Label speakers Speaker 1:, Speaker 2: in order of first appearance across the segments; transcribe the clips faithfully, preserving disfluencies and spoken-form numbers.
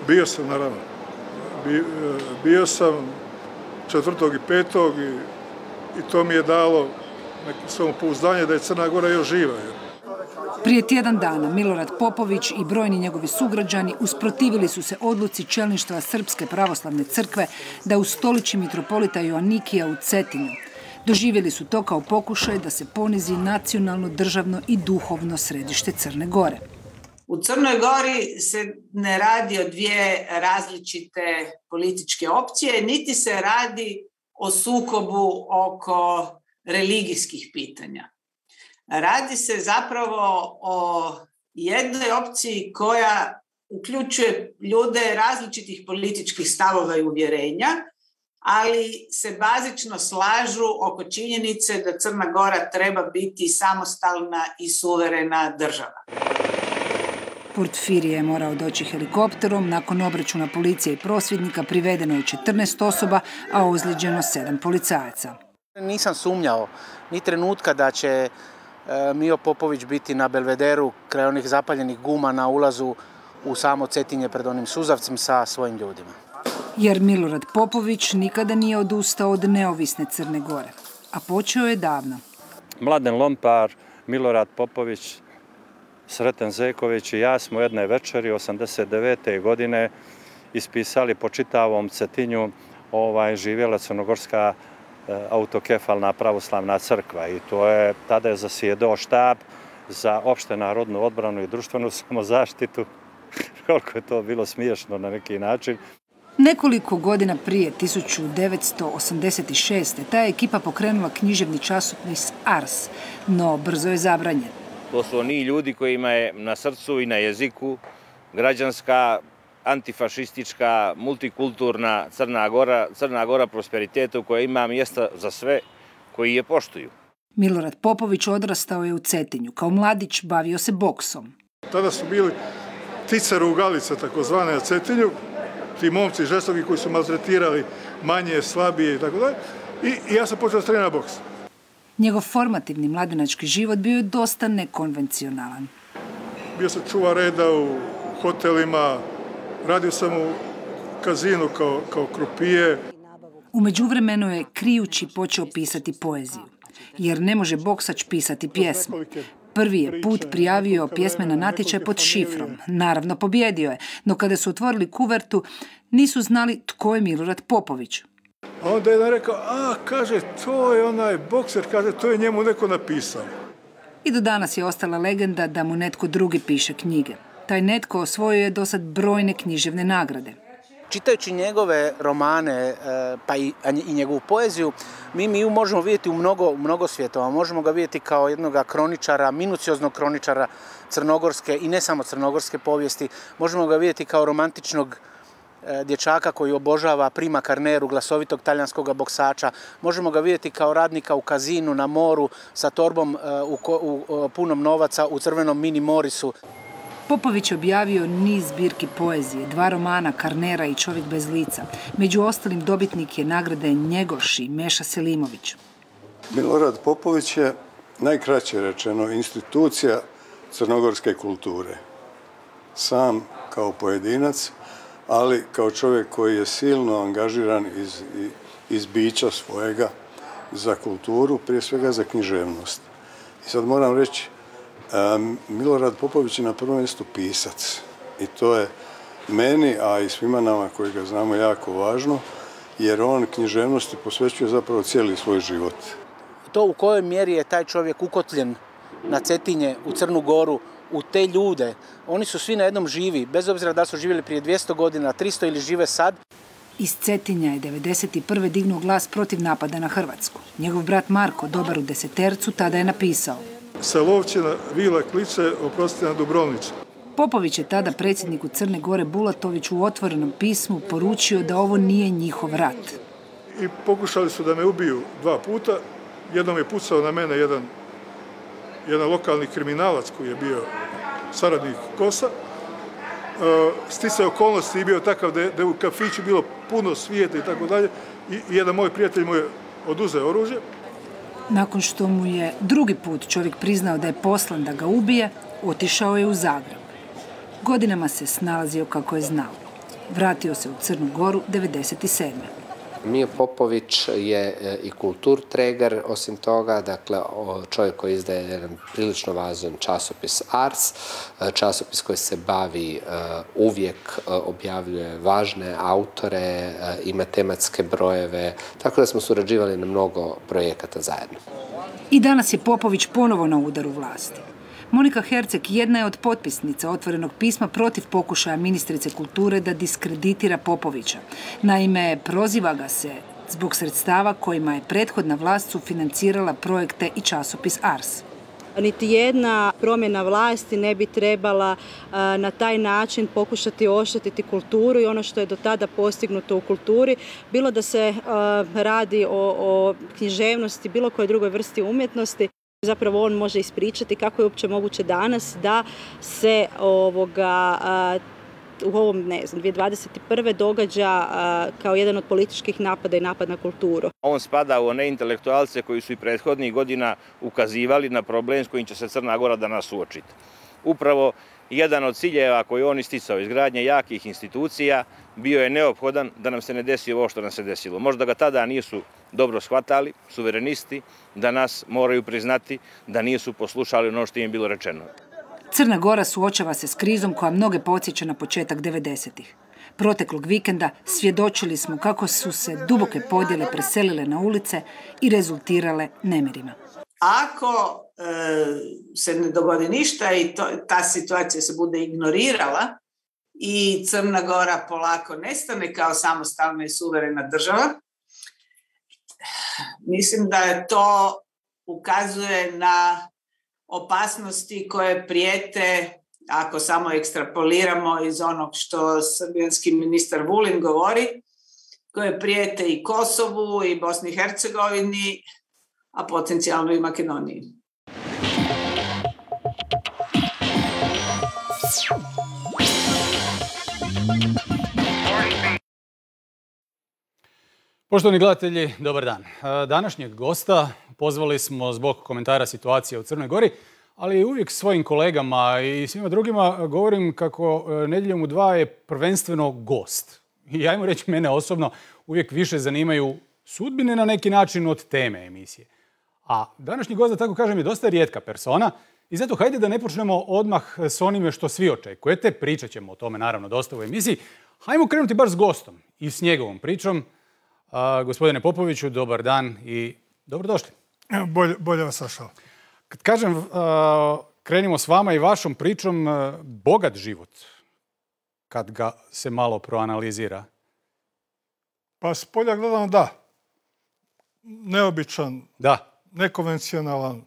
Speaker 1: Bio sam, naravno. Bio sam četvrtog i petog i, i to mi je dalo neko samopouzdanje da je Crna Gora još živa.
Speaker 2: Prije tjedan dana Milorad Popović i brojni njegovi sugrađani usprotivili su se odluci čelništva Srpske pravoslavne crkve da ustoliči mitropolita Joanikija u Cetinju. Doživjeli su to kao pokušaj da se ponizi nacionalno, državno i duhovno središte Crne Gore.
Speaker 3: U Crnoj Gori se ne radi o dvije različite političke opcije, niti se radi o sukobu oko religijskih pitanja. Radi se zapravo o jednoj opciji koja uključuje ljude različitih političkih stavova i uvjerenja, ali se bazično slažu oko činjenice da Crna Gora treba biti samostalna i suverena država.
Speaker 2: Portfirije je morao doći helikopterom. Nakon obračuna policije i prosvjednika privedeno je četrnaest osoba, a ozlijeđeno sedam policajaca.
Speaker 4: Nisam sumnjao ni trenutka da će Mio Popović biti na Belvederu kraj onih zapaljenih guma na ulazu u samo Cetinje pred onim suzavcem sa svojim ljudima.
Speaker 2: Jer Milorad Popović nikada nije odustao od neovisne Crne Gore, a počeo je davno.
Speaker 5: Mladen Lompar, Milorad Popović, Sreten Zeković i ja smo jedne večeri osamdeset devete. godine ispisali po čitavom Cetinju ovaj, živjela crnogorska autokefalna pravoslavna crkva i to je, tada je zasjedao štab za opšte narodnu odbranu i društvenu samozaštitu. Koliko je to bilo smiješno na neki način.
Speaker 2: Nekoliko godina prije, tisuću devetsto osamdeset šeste. ta je ekipa pokrenula književni časopis Ars, no brzo je zabranjen.
Speaker 6: To su oni ljudi kojima je na srcu i na jeziku građanska, antifašistička, multikulturna Crna Gora, Crna Gora prosperitetu koja ima mjesta za sve koji je poštuju.
Speaker 2: Milorad Popović odrastao je u Cetinju. Kao mladić bavio se boksom.
Speaker 1: Tada su bili ticarugalice, takozvane na Cetinju, ti momci žestoki koji su maltretirali manje, slabije i tako dalje. I ja sam počeo trenirati boks.
Speaker 2: Njegov formativni mladenački život bio je dosta nekonvencionalan.
Speaker 1: Bio sam čuvar reda u hotelima, radio sam u kazinu kao, kao krupije.
Speaker 2: U međuvremenu je krijući počeo pisati poeziju, jer ne može boksač pisati pjesmu. Prvi je put prijavio pjesme na natječaj pod šifrom. Naravno, pobjedio je, no kada su otvorili kuvertu, nisu znali tko je Milorad Popović.
Speaker 1: A onda je jedan rekao, a, kaže, to je onaj bokser, kaže, to je njemu neko napisao.
Speaker 2: I do danas je ostala legenda da mu netko drugi piše knjige. Taj netko osvojio je dosad brojne književne nagrade.
Speaker 4: Čitajući njegove romane pa i, i njegovu poeziju, mi mi ju možemo vidjeti u mnogo, mnogo svjetova. Možemo ga vidjeti kao jednog kroničara, minucioznog kroničara crnogorske i ne samo crnogorske povijesti. Možemo ga vidjeti kao romantičnog dječaka koji obožava Prima Carneru, glasovitog talijanskog boksača. Možemo ga vidjeti kao radnika u kazinu na moru sa torbom u, u, u punom novaca u crvenom mini Morisu.
Speaker 2: Popović je objavio niz zbirki poezije, dva romana Carnera i Čovjek bez lica. Među ostalim dobitnik je nagrade Njegoš i Meša Selimović.
Speaker 7: Milorad Popović je, najkraće rečeno, institucija crnogorske kulture. Sam kao pojedinac, ali kao čovjek koji je silno angažiran iz, iz bića svojega za kulturu, prije svega za književnost. I sad moram reći, Milorad Popović je na prvom mjestu pisac i to je meni, a i svima nama koji ga znamo, jako važno, jer on književnosti posvećuje zapravo cijeli svoj život.
Speaker 4: To u kojoj mjeri je taj čovjek ukotljen na Cetinje, u Crnu Goru, u te ljude, oni su svi na jednom živi, bez obzira da su živjeli prije dvjesto godina, tristo ili žive sad.
Speaker 2: Iz Cetinja je devedeset prve dignuo glas protiv napada na Hrvatsku. Njegov brat Marko, dobar u desetercu, tada je napisao:
Speaker 1: Sa Lovćina, Vila Klice, oprostite, na Dubrovnicu.
Speaker 2: Popović je tada predsjedniku Crne Gore Bulatoviću u otvorenom pismu poručio da ovo nije njihov rat.
Speaker 1: I pokušali su da me ubiju dva puta. Jednom je pucao na mene jedan, jedan lokalni kriminalac koji je bio saradnik Kosa. Sticaj okolnosti i bio takav da je, da je u kafiću bilo puno svijeta i tako dalje. I jedan moj prijatelj mu je oduzeo oružje.
Speaker 2: Nakon što mu je drugi put čovjek priznao da je poslan da ga ubije, otišao je u Zagreb. Godinama se snalazio kako je znao. Vratio se u Crnu Goru devedeset sedme
Speaker 8: Mio Popović je i kulturträger, osim toga, dakle čovjek koji izdaje jedan prilično važan časopis Ars, časopis koji se bavi uvijek, objavljuje važne autore, ima tematske brojeve, tako da smo surađivali na mnogo projekata zajedno.
Speaker 2: I danas je Popović ponovo na udaru vlasti. Monika Herceg jedna je od potpisnica otvorenog pisma protiv pokušaja ministrice kulture da diskreditira Popovića. Naime, proziva ga se zbog sredstava kojima je prethodna vlast sufinancirala projekte i časopis Ars.
Speaker 9: Niti jedna promjena vlasti ne bi trebala na taj način pokušati oštetiti kulturu i ono što je do tada postignuto u kulturi, bilo da se radi o, o književnosti, bilo koje drugoj vrsti umjetnosti. Zapravo on može ispričati kako je uopće moguće danas da se ovoga, u ovom, ne znam, dvije tisuće dvadeset prve događa kao jedan od političkih napada i napad na kulturu.
Speaker 6: On spada u one intelektualce koji su i prethodnih godina ukazivali na problem s kojim će se Crna Gora danas suočiti. Upravo jedan od ciljeva koji on isticao, izgradnje jakih institucija, bio je neophodan da nam se ne desi ovo što nam se desilo. Možda ga tada nisu dobro shvatali, suverenisti, da nas moraju priznati da nisu poslušali ono što im je bilo rečeno.
Speaker 2: Crna Gora suočava se s krizom koja mnoge podsjeća na početak devedesetih. Proteklog vikenda svjedočili smo kako su se duboke podjele preselile na ulice i rezultirale nemirima.
Speaker 3: Ako e, se ne dogodi ništa i to, ta situacija se bude ignorirala i Crna Gora polako nestane kao samostalna i suverena država, mislim da to ukazuje na opasnosti koje prijete, ako samo ekstrapoliramo iz onog što srbijanski ministar Vulin govori, koje prijete i Kosovu i Bosni i Hercegovini, a potencijalno i Makedoniji.
Speaker 10: Poštovani gledatelji, dobar dan. Današnjeg gosta pozvali smo zbog komentara situacije u Crnoj Gori, ali uvijek svojim kolegama i svima drugima govorim kako Nedjeljom u dva je prvenstveno gost. I ajmo reći, mene osobno uvijek više zanimaju sudbine na neki način od teme emisije. A današnji gost, da tako kažem, je dosta rijetka persona i zato hajde da ne počnemo odmah s onime što svi očekujete. Pričat ćemo o tome naravno dosta u emisiji. Hajmo krenuti baš s gostom i s njegovom pričom. Uh, gospodine Popoviću, dobar dan i dobrodošli.
Speaker 1: Bolje, bolje vas sašao.
Speaker 10: Kad kažem, uh, krenimo s vama i vašom pričom, uh, bogat život, kad ga se malo proanalizira.
Speaker 1: Pa s polja gledano da. Neobičan,
Speaker 10: da.
Speaker 1: Nekonvencionalan,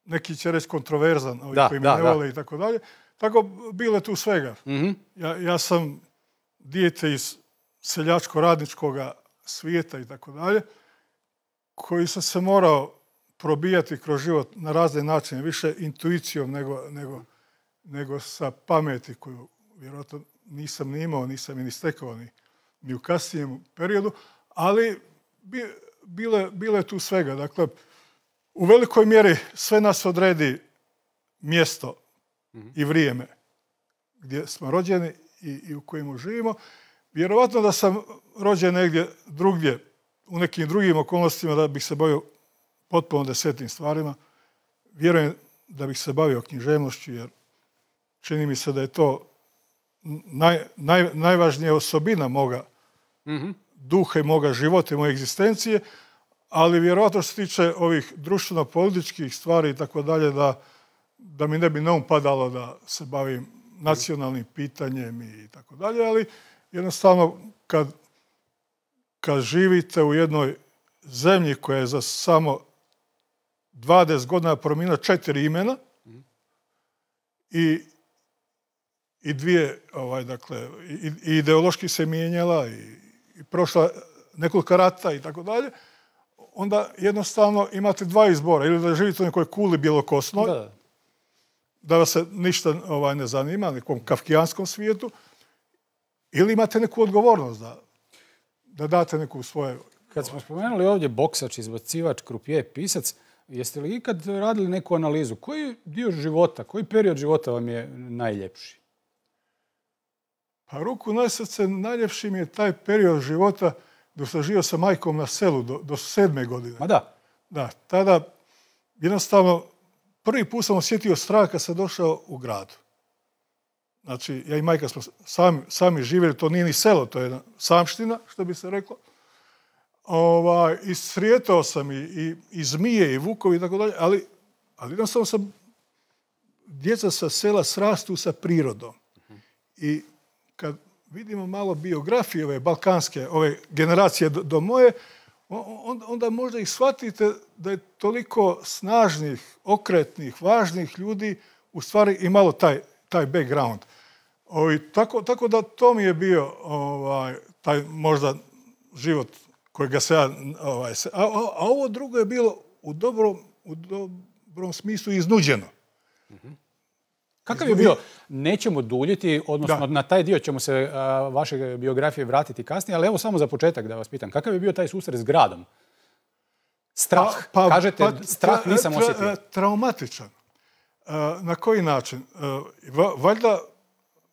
Speaker 1: neki će reći kontroverzan, ovi
Speaker 10: da,
Speaker 1: koji me
Speaker 10: da,
Speaker 1: ne vole i tako dalje. Tako bilo je tu svega.
Speaker 10: Mm-hmm.
Speaker 1: ja, ja sam dijete iz seljačko-radničkoga svijeta i tako dalje, koji sam se morao probijati kroz život na razne načine, više intuicijom nego, nego, nego sa pameti koju vjerojatno nisam ni imao, nisam ni stekao ni, ni u kasnijem periodu, ali bi, bilo, bilo je tu svega. Dakle, u velikoj mjeri sve nas odredi mjesto mm-hmm. i vrijeme gdje smo rođeni i, i u kojemu živimo. Vjerovatno da sam rođen negdje drugdje, u nekim drugim okolnostima, da bih se bavio potpuno desetim stvarima. Vjerujem da bih se bavio književnošću, jer čini mi se da je to naj, naj, najvažnija osobina moga mm-hmm. duha i moga života i moje egzistencije, ali vjerovatno što se tiče ovih društveno-političkih stvari i tako dalje, da, da mi ne bi neum padalo da se bavim nacionalnim pitanjem i tako dalje, ali jednostavno, kad, kad živite u jednoj zemlji koja je za samo dvadeset godina promijenila četiri imena mm. i, i dvije, ovaj, dakle, i, i ideološki se mijenjala i, i prošla nekoliko rata i tako dalje, onda jednostavno imate dva izbora. Ili da živite u nekoj kuli bjelokosnoj, da, da vas se ništa ovaj, ne zanima, nekom kafkijanskom svijetu, ili imate neku odgovornost da, da date neku svoje...
Speaker 10: Kad smo spomenuli ovdje boksač, izbacivač, krupije, pisac, jeste li ikad radili neku analizu? Koji dio života, koji period života vam je najljepši?
Speaker 1: A ruku na srce, najljepši mi je taj period života dok sam živio sa majkom na selu do, do sedme godine.
Speaker 10: Ma da.
Speaker 1: Da, tada jednostavno prvi put sam osjetio strah kad sam došao u grad. Znači, ja i majka smo sami, sami živjeli, to nije ni selo, to je jedna samština, što bi se reklo. Ovaj, i srijetao sam i, i, i zmije, i vukovi i tako dalje, ali, ali jednostavno sam, djeca sa sela srastu sa prirodom. I kad vidimo malo biografije ove balkanske, ove generacije do, do moje, onda, onda možda i shvatite da je toliko snažnih, okretnih, važnih ljudi u stvari imalo taj, taj background. Ovi, tako, tako da to mi je bio ovaj, taj možda život kojega se ja... Ovaj, a, a, a ovo drugo je bilo u dobrom, u dobrom smislu iznuđeno.
Speaker 10: Mm-hmm. Kakav je bio, nećemo duljiti, odnosno da. Na taj dio ćemo se a, vaše biografije vratiti kasnije, ali evo samo za početak da vas pitam, kakav je bio taj susret s gradom? Strah, pa, pa, kažete, pa, strah nisam osjetio. Tra,
Speaker 1: traumatičan. A, na koji način? A, valjda,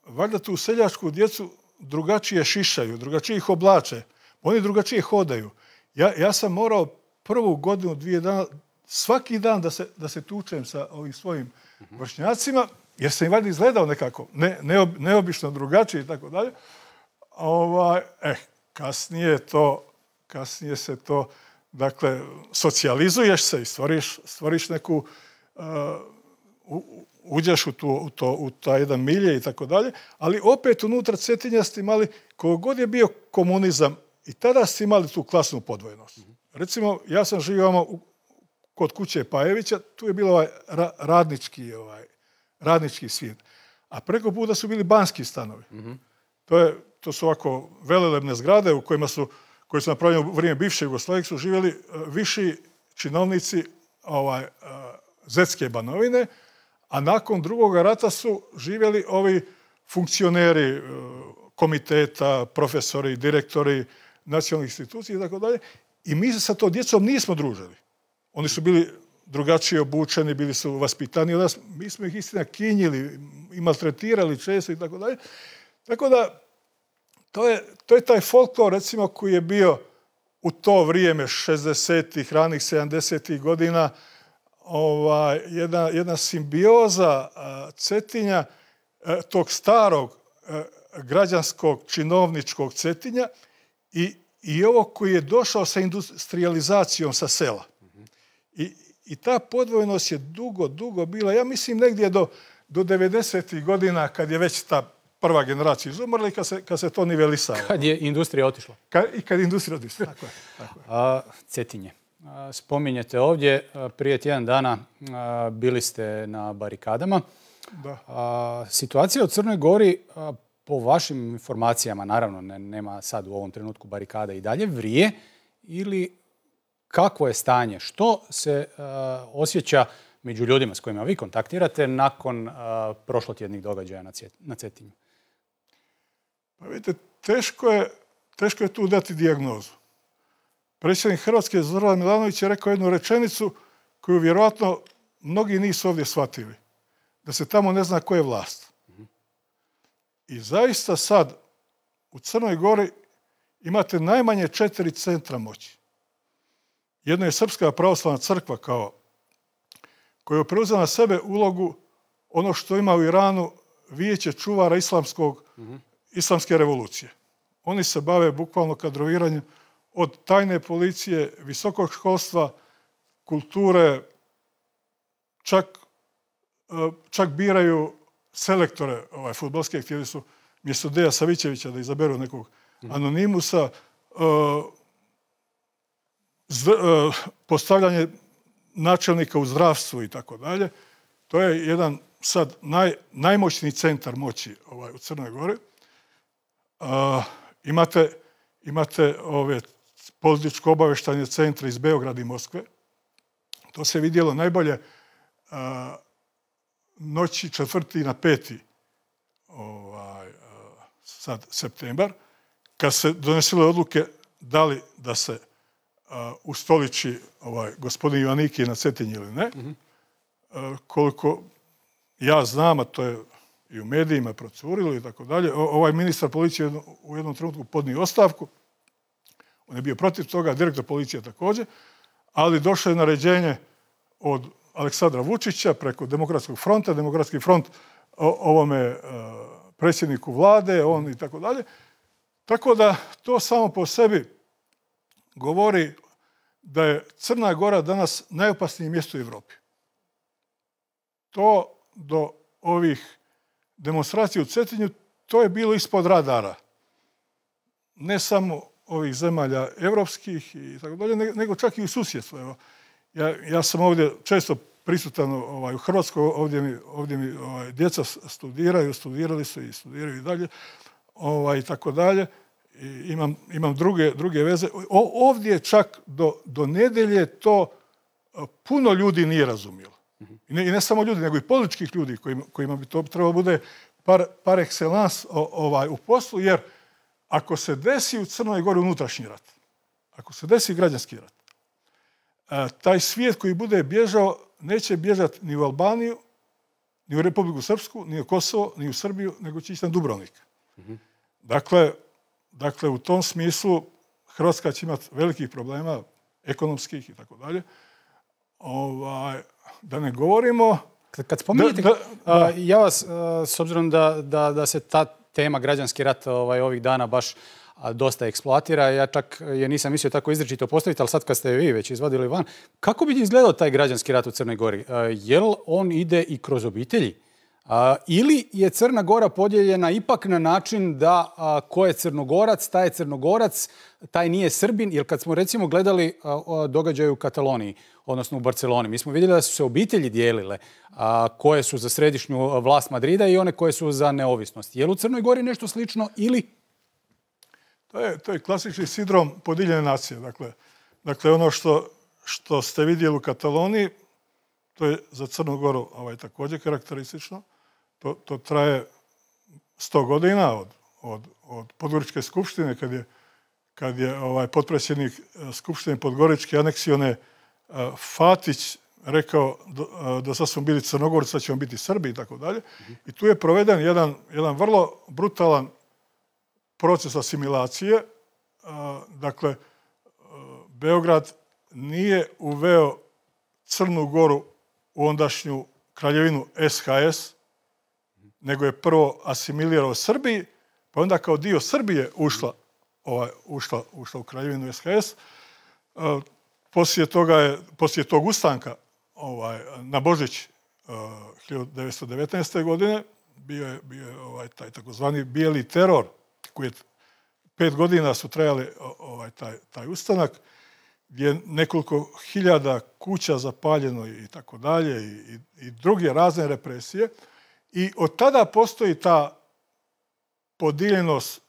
Speaker 1: valjda tu seljačku djecu drugačije šišaju, drugačije ih oblače, oni drugačije hodaju. Ja, ja sam morao prvu godinu, dvije dana, svaki dan da se, da se tučem sa ovim svojim vršnjacima, jer sam im valjda izgledao nekako, ne, neob, neobično drugačije i tako dalje. Ovaj, eh, kasnije to, kasnije se to, dakle, socijalizuješ se i stvoriš, stvoriš neku, uh, u, uđeš u, tu, u, to, u taj jedan milje i tako dalje, ali opet unutra Cetinja ste imali, kogod je bio komunizam, i tada ste imali tu klasnu podvojenost. Mm-hmm. Recimo, ja sam živio u, kod kuće Pajevića, tu je bilo ovaj ra, radnički, ovaj, radnički svijet. A preko puta su bili banski stanovi. Mm-hmm. To, je, to su ovako velelebne zgrade u kojima su, koje su napravljene u vrijeme bivše Jugoslavije, su živjeli uh, viši činovnici ovaj, uh, Zetske Banovine, a nakon drugog rata su živjeli ovi funkcioneri uh, komiteta, profesori, direktori nacionalnih institucija i tako dalje. I mi se sa to djecom nismo družili. Oni su bili drugačije obučeni, bili su vaspitani od nas. Mi smo ih istina kinjili i maltretirali često i tako dalje. Tako da, to je, to je taj folklor, recimo, koji je bio u to vrijeme šezdesetih, ranih sedamdesetih godina, ovaj, jedna, jedna simbioza a, Cetinja, a, tog starog a, građanskog, činovničkog Cetinja i, i ovo koji je došao sa industrializacijom sa sela. I, i ta podvojnost je dugo, dugo bila, ja mislim negdje do, do devedesetih godina, kad je već ta prva generacija izumrla i kad se, kad se to nivelisalo.
Speaker 10: Kad je industrija otišla.
Speaker 1: Kad, I kad je industrija otišla. Tako je, tako je.
Speaker 10: A, Cetinje. A, spominjete ovdje, a, prije tjedan dana a, bili ste na barikadama.
Speaker 1: Da.
Speaker 10: A, situacija u Crnoj Gori, a, po vašim informacijama, naravno, ne, nema sad u ovom trenutku barikada i dalje, vrije ili kakvo je stanje? Što se uh, osjeća među ljudima s kojima vi kontaktirate nakon uh, prošlotjednih događaja na, Cet, na Cetinju?
Speaker 1: Pa vidite, teško je, teško je tu dati dijagnozu. Predsjednik Hrvatske Zoran Milanović je rekao jednu rečenicu koju vjerojatno mnogi nisu ovdje shvatili. Da se tamo ne zna ko je vlast. I zaista sad u Crnoj Gori imate najmanje četiri centra moći. Jedno je Srpska pravoslavna crkva kao, koja je preuzela na sebe ulogu ono što ima u Iranu vijeće čuvara islamskog, mm-hmm. islamske revolucije. Oni se bave bukvalno kadroviranjem od tajne policije, visokog školstva, kulture, čak, čak biraju selektore ovaj, fudbalske, htjeli su mjesto Deja Savićevića da izaberu nekog anonimusa, uh, zd, uh, postavljanje načelnika u zdravstvu i tako dalje. To je jedan sad naj, najmoćniji centar moći ovaj, u Crnoj Gori. Uh, imate, imate ove političko-obavještajne centre iz Beograda i Moskve. To se vidjelo najbolje uh, noći četvrti na peti ovaj, sad septembar, kad se donesile odluke da li da se uh, ustoliči ovaj, gospodin Joannikij na Cetinju ili ne. Mm-hmm. Uh, koliko ja znam, a to je i u medijima procurilo i tako dalje. Ovaj ministar policije u jednom trenutku podnio ostavku. On je bio protiv toga, direktor policije također, ali došlo je naređenje od Aleksandra Vučića preko Demokratskog fronta, Demokratski front ovome predsjedniku vlade, on i tako dalje. Tako da to samo po sebi govori da je Crna Gora danas najopasnije mjesto u Evropi. To do ovih demonstracija u Cetinju, to je bilo ispod radara. Ne samo ovih zemalja evropskih i tako dalje, nego čak i u susjedstvu. Evo, ja, ja sam ovdje često prisutan ovaj, u Hrvatskoj, ovdje mi, ovdje mi ovaj, djeca studiraju, studirali su i studiraju i dalje, ovaj, i tako dalje. I imam, imam druge, druge veze. O, ovdje čak do, do nedelje to puno ljudi nije razumjelo. I ne, I ne samo ljudi, nego i političkih ljudi kojima, kojima bi to trebalo bude par, par excellence ovaj, u poslu, jer ako se desi u Crnoj Gori unutrašnji rat, ako se desi građanski rat, taj svijet koji bude bježao neće bježati ni u Albaniju, ni u Republiku Srpsku, ni u Kosovo, ni u Srbiju, nego će ići na Dubrovnik. Mm-hmm. Dakle, dakle, u tom smislu Hrvatska će imati velikih problema, ekonomskih i tako dalje. Ovaj, da ne govorimo...
Speaker 10: Kad spominjete, da, da, da. ja vas, s obzirom da, da, da se ta tema građanski rat ovaj, ovih dana baš dosta eksploatira, ja čak je nisam mislio tako izričito postaviti, ali sad kad ste vi već izvadili van, kako bi izgledao taj građanski rat u Crnoj Gori? Jel on ide i kroz obitelji? Ili je Crna Gora podijeljena ipak na način da ko je Crnogorac, taj je Crnogorac, taj nije Srbin, jer kad smo recimo gledali događaje u Kataloniji, odnosno u Barceloni, mi smo vidjeli da su se obitelji dijelile koje su za središnju vlast Madrida i one koje su za neovisnost. Je li u Crnoj Gori nešto slično ili...
Speaker 1: To je, to je klasični sindrom podijeljene nacije. Dakle, dakle ono što, što ste vidjeli u Kataloniji, to je za Crnu Goru ovaj, također karakteristično. To, to traje sto godina od, od, od Podgoričke skupštine, kad je, kad je ovaj, potpredsjednik Skupštine Podgoričke aneksione uh, Fatić rekao do, do sad smo bili Crnogorci, sad ćemo biti Srbi i tako dalje. I tu je proveden jedan, jedan vrlo brutalan proces asimilacije. Dakle, Beograd nije uveo Crnu Goru u ondašnju kraljevinu S H S, nego je prvo asimilirao Srbiji, pa onda kao dio Srbije ušla, ovaj, ušla, ušla u kraljevinu S H S. Poslije toga je, poslije tog ustanka ovaj, na Božić hiljadu devetsto devetnaeste. godine bio je, bio je ovaj, taj takozvani bijeli teror, koji je pet godina su trajali ovaj, taj, taj ustanak, gdje je nekoliko hiljada kuća zapaljeno i tako dalje i, i druge razne represije. I od tada postoji ta podijeljenost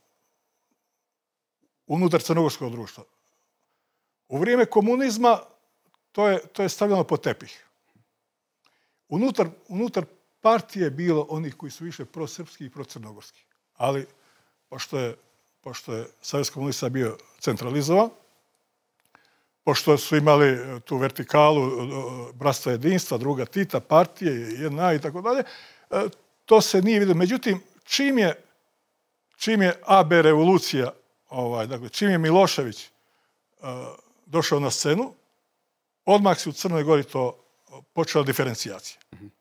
Speaker 1: unutar crnogorskog društva. U vrijeme komunizma to je, to je stavljeno pod tepih. Unutar, unutar partije je bilo onih koji su više prosrpski i procrnogorski. Ali, pošto je, pošto je Savez komunista bio centralizovan, pošto su imali tu vertikalu bratstva jedinstva, druga Tita, partije, jedna i tako dalje, to se nije vidio. Međutim, čim je, čim je A B revolucija, ovaj, dakle, čim je Milošević uh, došao na scenu, odmah se u Crnoj Gori to počela diferencijacija. Mm-hmm.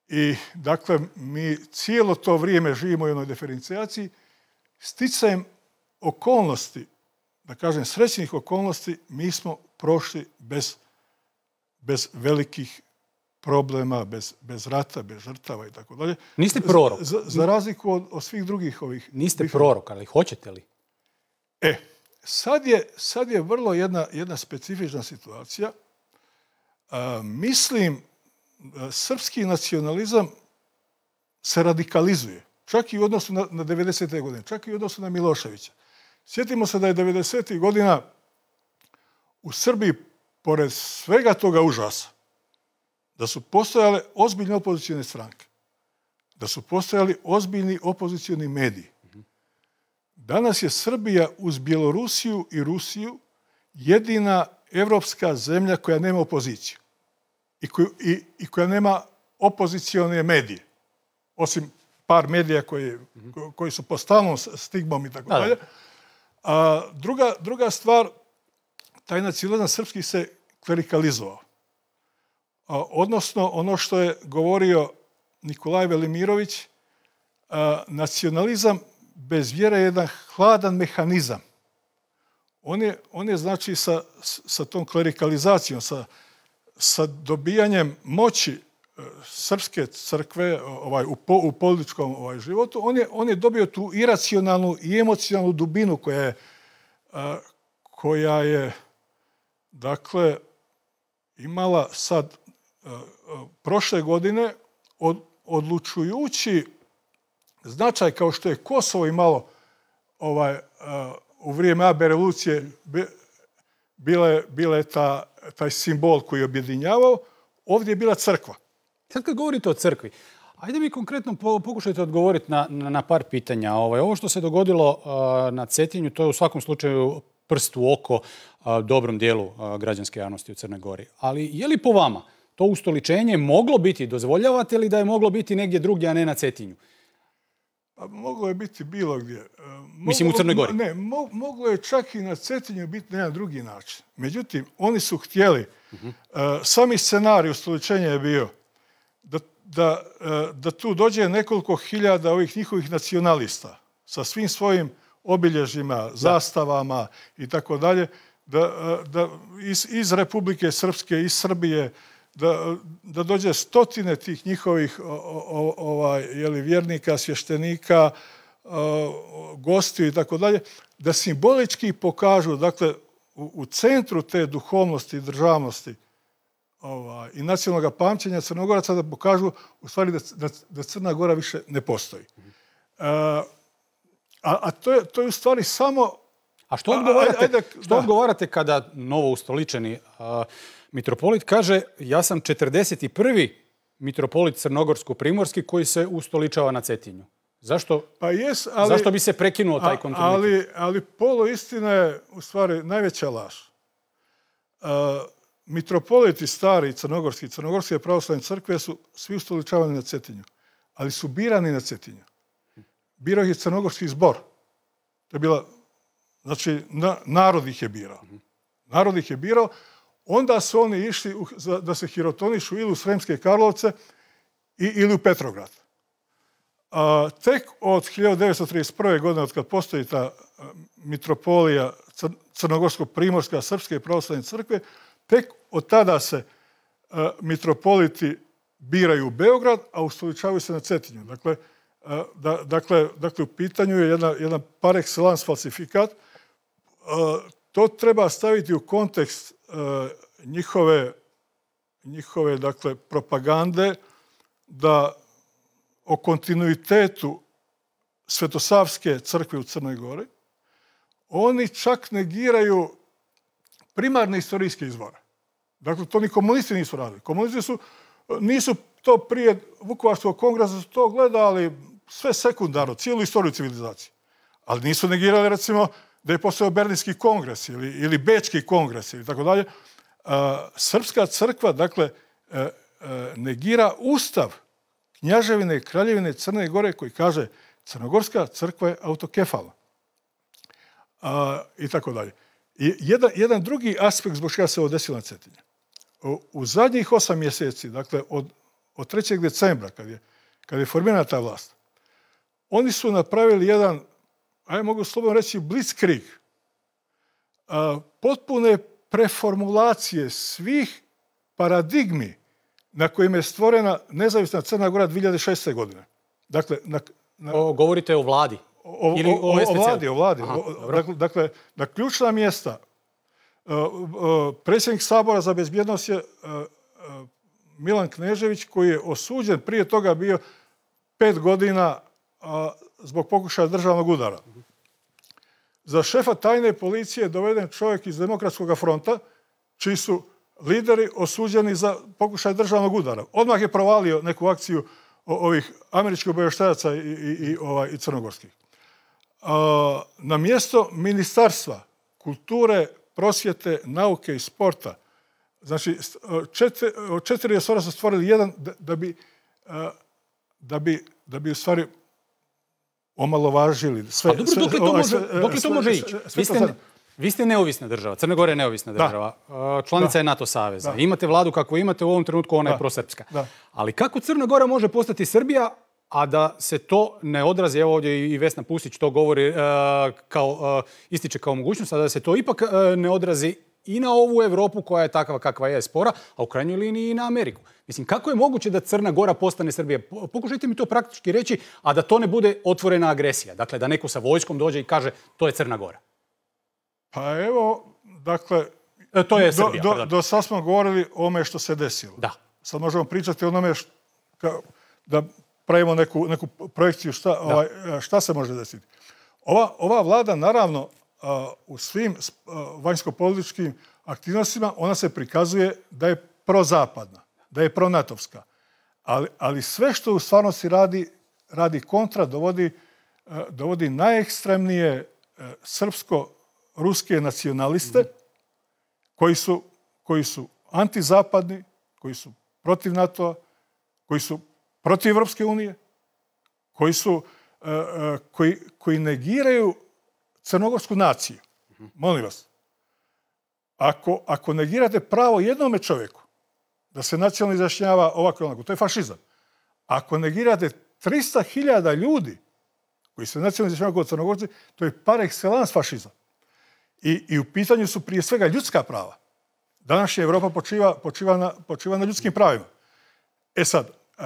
Speaker 1: I, dakle, mi cijelo to vrijeme živimo u jednoj diferencijaciji, sticajem okolnosti, da kažem srećnih okolnosti, mi smo prošli bez, bez velikih problema, bez, bez rata, bez žrtava i tako dalje.
Speaker 10: Niste prorok.
Speaker 1: Za, za razliku od, od svih drugih ovih...
Speaker 10: Niste prorok, ali hoćete li?
Speaker 1: E, sad je, sad je vrlo jedna, jedna specifična situacija. A, mislim, srpski nacionalizam se radikalizuje. Čak i u odnosu na, na devedesete. godine, čak i u odnosu na Miloševića. Sjetimo se da je devedesetih godina u Srbiji, pored svega toga užasa, da su postojale ozbiljne opozicijne stranke, da su postojali ozbiljni opozicijni mediji. Danas je Srbija uz Bjelorusiju i Rusiju jedina evropska zemlja koja nema opoziciju i, koju, i, i koja nema opozicijone medije, osim par medija koji, koji su pod stalnom stigmom i tako dalje. A druga, druga stvar, taj nacionalizam srpski se klerikalizovao. A, odnosno, ono što je govorio Nikolaj Velimirović, a, nacionalizam bez vjere je jedan hladan mehanizam. On je, on je znači sa, sa tom klerikalizacijom, sa, sa dobijanjem moći srpske crkve ovaj, u, po, u političkom ovaj, životu, on je, on je dobio tu iracionalnu i emocionalnu dubinu koja je, a, koja je dakle, imala sad a, a, prošle godine od, odlučujući značaj kao što je Kosovo imalo ovaj, a, u vrijeme A B revolucije bile, bile ta, taj simbol koji je objedinjavao, ovdje je bila crkva.
Speaker 10: Sad kad govorite o crkvi, ajde mi konkretno pokušajte odgovoriti na, na, na par pitanja. Ovaj, ovo što se dogodilo uh, na Cetinju, to je u svakom slučaju prst u oko uh, dobrom dijelu uh, građanske javnosti u Crnoj Gori. Ali je li po vama to ustoličenje moglo biti, dozvoljavate li da je moglo biti negdje drugdje, a ne na Cetinju?
Speaker 1: Pa moglo je biti bilo gdje. Moglo,
Speaker 10: Mislim u Crnoj Gori?
Speaker 1: Ne, mo, moglo je čak i na Cetinju biti na jedan drugi način. Međutim, oni su htjeli, uh-huh. uh, sami scenarij ustoličenja je bio da, da, uh, da tu dođe nekoliko hiljada ovih njihovih nacionalista sa svim svojim obilježjima, zastavama i tako dalje, da, da iz, iz Republike Srpske, iz Srbije, da, da dođe stotine tih njihovih o, o, ovaj, jeli, vjernika, svještenika, o, gostiju i tako dalje, da simbolički pokažu, dakle, u, u centru te duhovnosti i državnosti ovaj, i nacionalnog pamćenja Crnogoraca da pokažu u stvari da, da, da Crna Gora više ne postoji. E, a, a to je, to je u stvari samo...
Speaker 10: A što odgovarate, a, ajde, ajde, što odgovarate kada novo ustoličeni a, mitropolit kaže ja sam četrdeset prvi mitropolit crnogorsko-primorski koji se ustoličava na Cetinju? Zašto,
Speaker 1: pa jes, ali,
Speaker 10: zašto bi se prekinuo taj kontinuitet?
Speaker 1: Ali, ali poluistina je u stvari najveća laž. Uh, mitropoliti stari crnogorski, crnogorske pravoslavne crkve su svi ustoličavani na Cetinju, ali su birani na Cetinju. Birao ih je crnogorski zbor. To je bila, znači, na, narod ih je birao. Narod ih je birao. Onda su oni išli u, za, da se hirotonišu ili u Sremske Karlovce i, ili u Petrograd. A, tek od hiljadu devetsto trideset prve. godine, od kad postoji ta a, mitropolija Cr, Crnogorsko-Primorska Srpske pravoslavne crkve, tek od tada se a, mitropoliti biraju u Beograd, a ustoličavaju se na Cetinju. Dakle, a, da, dakle, dakle, u pitanju je jedna, jedan par excellence falsifikat. A, to treba staviti u kontekst njihove, njihove dakle, propagande da o kontinuitetu Svetosavske crkve u Crnoj Gori oni čak negiraju primarne istorijske izvore. Dakle, to ni komunisti nisu radili. Komunisti su, nisu to prije Vukovarskog kongresa su to gledali sve sekundarno, cijelu istoriju civilizacije. Ali nisu negirali, recimo, da je postojao Berlinski kongres ili, ili Bečki kongres ili tako dalje. Srpska crkva, dakle, negira ustav Knjaževine i Kraljevine Crne Gore koji kaže Crnogorska crkva je autokefalna. I tako dalje. I jedan, jedan drugi aspekt zbog čega se ovo desilo na Cetinju. U, u zadnjih osam mjeseci, dakle, od, od trećeg decembra, kad je, kad je formirana ta vlast, oni su napravili jedan, ajde mogu slobodno reći, blitzkrieg, a, potpune preformulacije svih paradigmi na kojima je stvorena nezavisna Crna Gora dvije hiljade šeste. godine. Dakle, na, na,
Speaker 10: o, govorite o vladi?
Speaker 1: O,
Speaker 10: Ili
Speaker 1: o, o, o vladi, o vladi.
Speaker 10: Aha,
Speaker 1: o, dakle, dakle, na ključna mjesta uh, uh, predsjednik Sabora za bezbjednost je uh, uh, Milan Knežević, koji je osuđen, prije toga bio pet godina uh, zbog pokušaja državnog udara. Za šefa tajne policije je doveden čovjek iz Demokratskog fronta, čiji su lideri osuđeni za pokušaj državnog udara. Odmah je provalio neku akciju ovih američkih obavještajaca i, i, i, ovaj, i crnogorskih. A, na mjesto Ministarstva kulture, prosvjete, nauke i sporta, znači četiri, četiri resora su stvorili jedan da, da, bi, da, bi, da bi u stvari omalovažili. Sve,
Speaker 10: a dobro,
Speaker 1: sve,
Speaker 10: dok li to
Speaker 1: ovaj,
Speaker 10: može,
Speaker 1: sve,
Speaker 10: dok li to
Speaker 1: sve,
Speaker 10: može
Speaker 1: sve,
Speaker 10: ići?
Speaker 1: sve
Speaker 10: Vi
Speaker 1: to
Speaker 10: ste,
Speaker 1: sad-
Speaker 10: vi ste neovisna država, Crna Gora je neovisna država, uh, članica
Speaker 1: Da.
Speaker 10: je NATO saveza.
Speaker 1: Da.
Speaker 10: Imate vladu kako imate, u ovom trenutku ona je
Speaker 1: Da.
Speaker 10: prosrpska.
Speaker 1: Da.
Speaker 10: Ali kako Crna Gora može postati Srbija, a da se to ne odrazi, evo ovdje i Vesna Pusić to govori, uh, kao, uh, ističe kao mogućnost, a da se to ipak uh, ne odrazi i na ovu Evropu koja je takva kakva je spora, a u krajnjoj liniji i na Ameriku. Mislim, kako je moguće da Crna Gora postane Srbija? Po- Pokušajte mi to praktički reći, a da to ne bude otvorena agresija. Dakle, da neko sa vojskom dođe i kaže to je Crna Gora.
Speaker 1: Pa evo, dakle,
Speaker 10: E, to je
Speaker 1: do,
Speaker 10: Srbija,
Speaker 1: do,
Speaker 10: pardon.
Speaker 1: do sad smo govorili o ome što se desilo.
Speaker 10: Da.
Speaker 1: Sad možemo pričati o onome št- ka- da pravimo neku, neku projekciju šta, ovaj, šta se može desiti. Ova, ova vlada, naravno, a, u svim a, vanjsko-političkim aktivnostima, ona se prikazuje da je prozapadna, da je pronatovska. Ali, ali sve što u stvarnosti radi, radi kontra, dovodi, a, dovodi najekstremnije a, srpsko-ruske nacionaliste, koji su, koji su antizapadni, koji su protiv NATO-a, koji su protiv Evropske unije, koji su uh, uh, koji, koji negiraju crnogorsku naciju. Molim vas, ako, ako negirate pravo jednome čovjeku da se nacionalno izjašnjava ovako i onako, to je fašizam. Ako negirate trista hiljada ljudi koji se nacionalno izjašnjavaju kao Crnogorci, to je par excellence fašizam. I, I u pitanju su prije svega ljudska prava. Današnja Evropa počiva, počiva, na, počiva na ljudskim pravima. E sad, uh,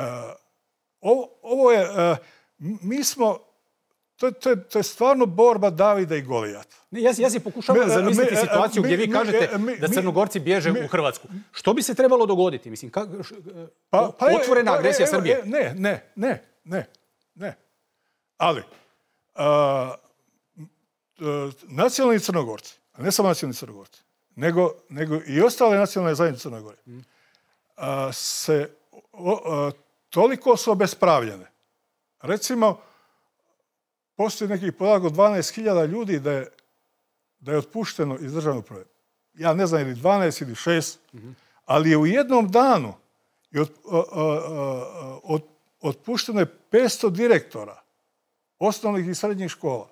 Speaker 1: ovo, ovo je, uh, mi smo, to, to, je, to je stvarno borba Davida i Golijata.
Speaker 10: Ne, ja, ja si pokušavam
Speaker 1: Mi-
Speaker 10: zamisliti
Speaker 1: mi-
Speaker 10: situaciju
Speaker 1: mi-
Speaker 10: gdje vi
Speaker 1: mi-
Speaker 10: kažete
Speaker 1: mi-
Speaker 10: da
Speaker 1: mi-
Speaker 10: Crnogorci bježe
Speaker 1: mi-
Speaker 10: u Hrvatsku. Što bi se trebalo dogoditi? Mislim, kak, š,
Speaker 1: Pa, pa, je-
Speaker 10: otvorena
Speaker 1: pa,
Speaker 10: agresija
Speaker 1: evo,
Speaker 10: Srbije.
Speaker 1: e, Ne, ne, ne, ne, ne. Ali, a, a, nacionalni Crnogorci, a ne samo nacionalni Crnogorci, nego, nego i ostale nacionalne zajednice Crne Gore, a, se o, a, toliko su obespravljene. Recimo, postoji nekih podatak od dvanaest hiljada ljudi da je, da je otpušteno iz državne uprave. Ja ne znam ili dvanaest ili šest, ali je u jednom danu i od, a, a, a, od, otpušteno je petsto direktora osnovnih i srednjih škola.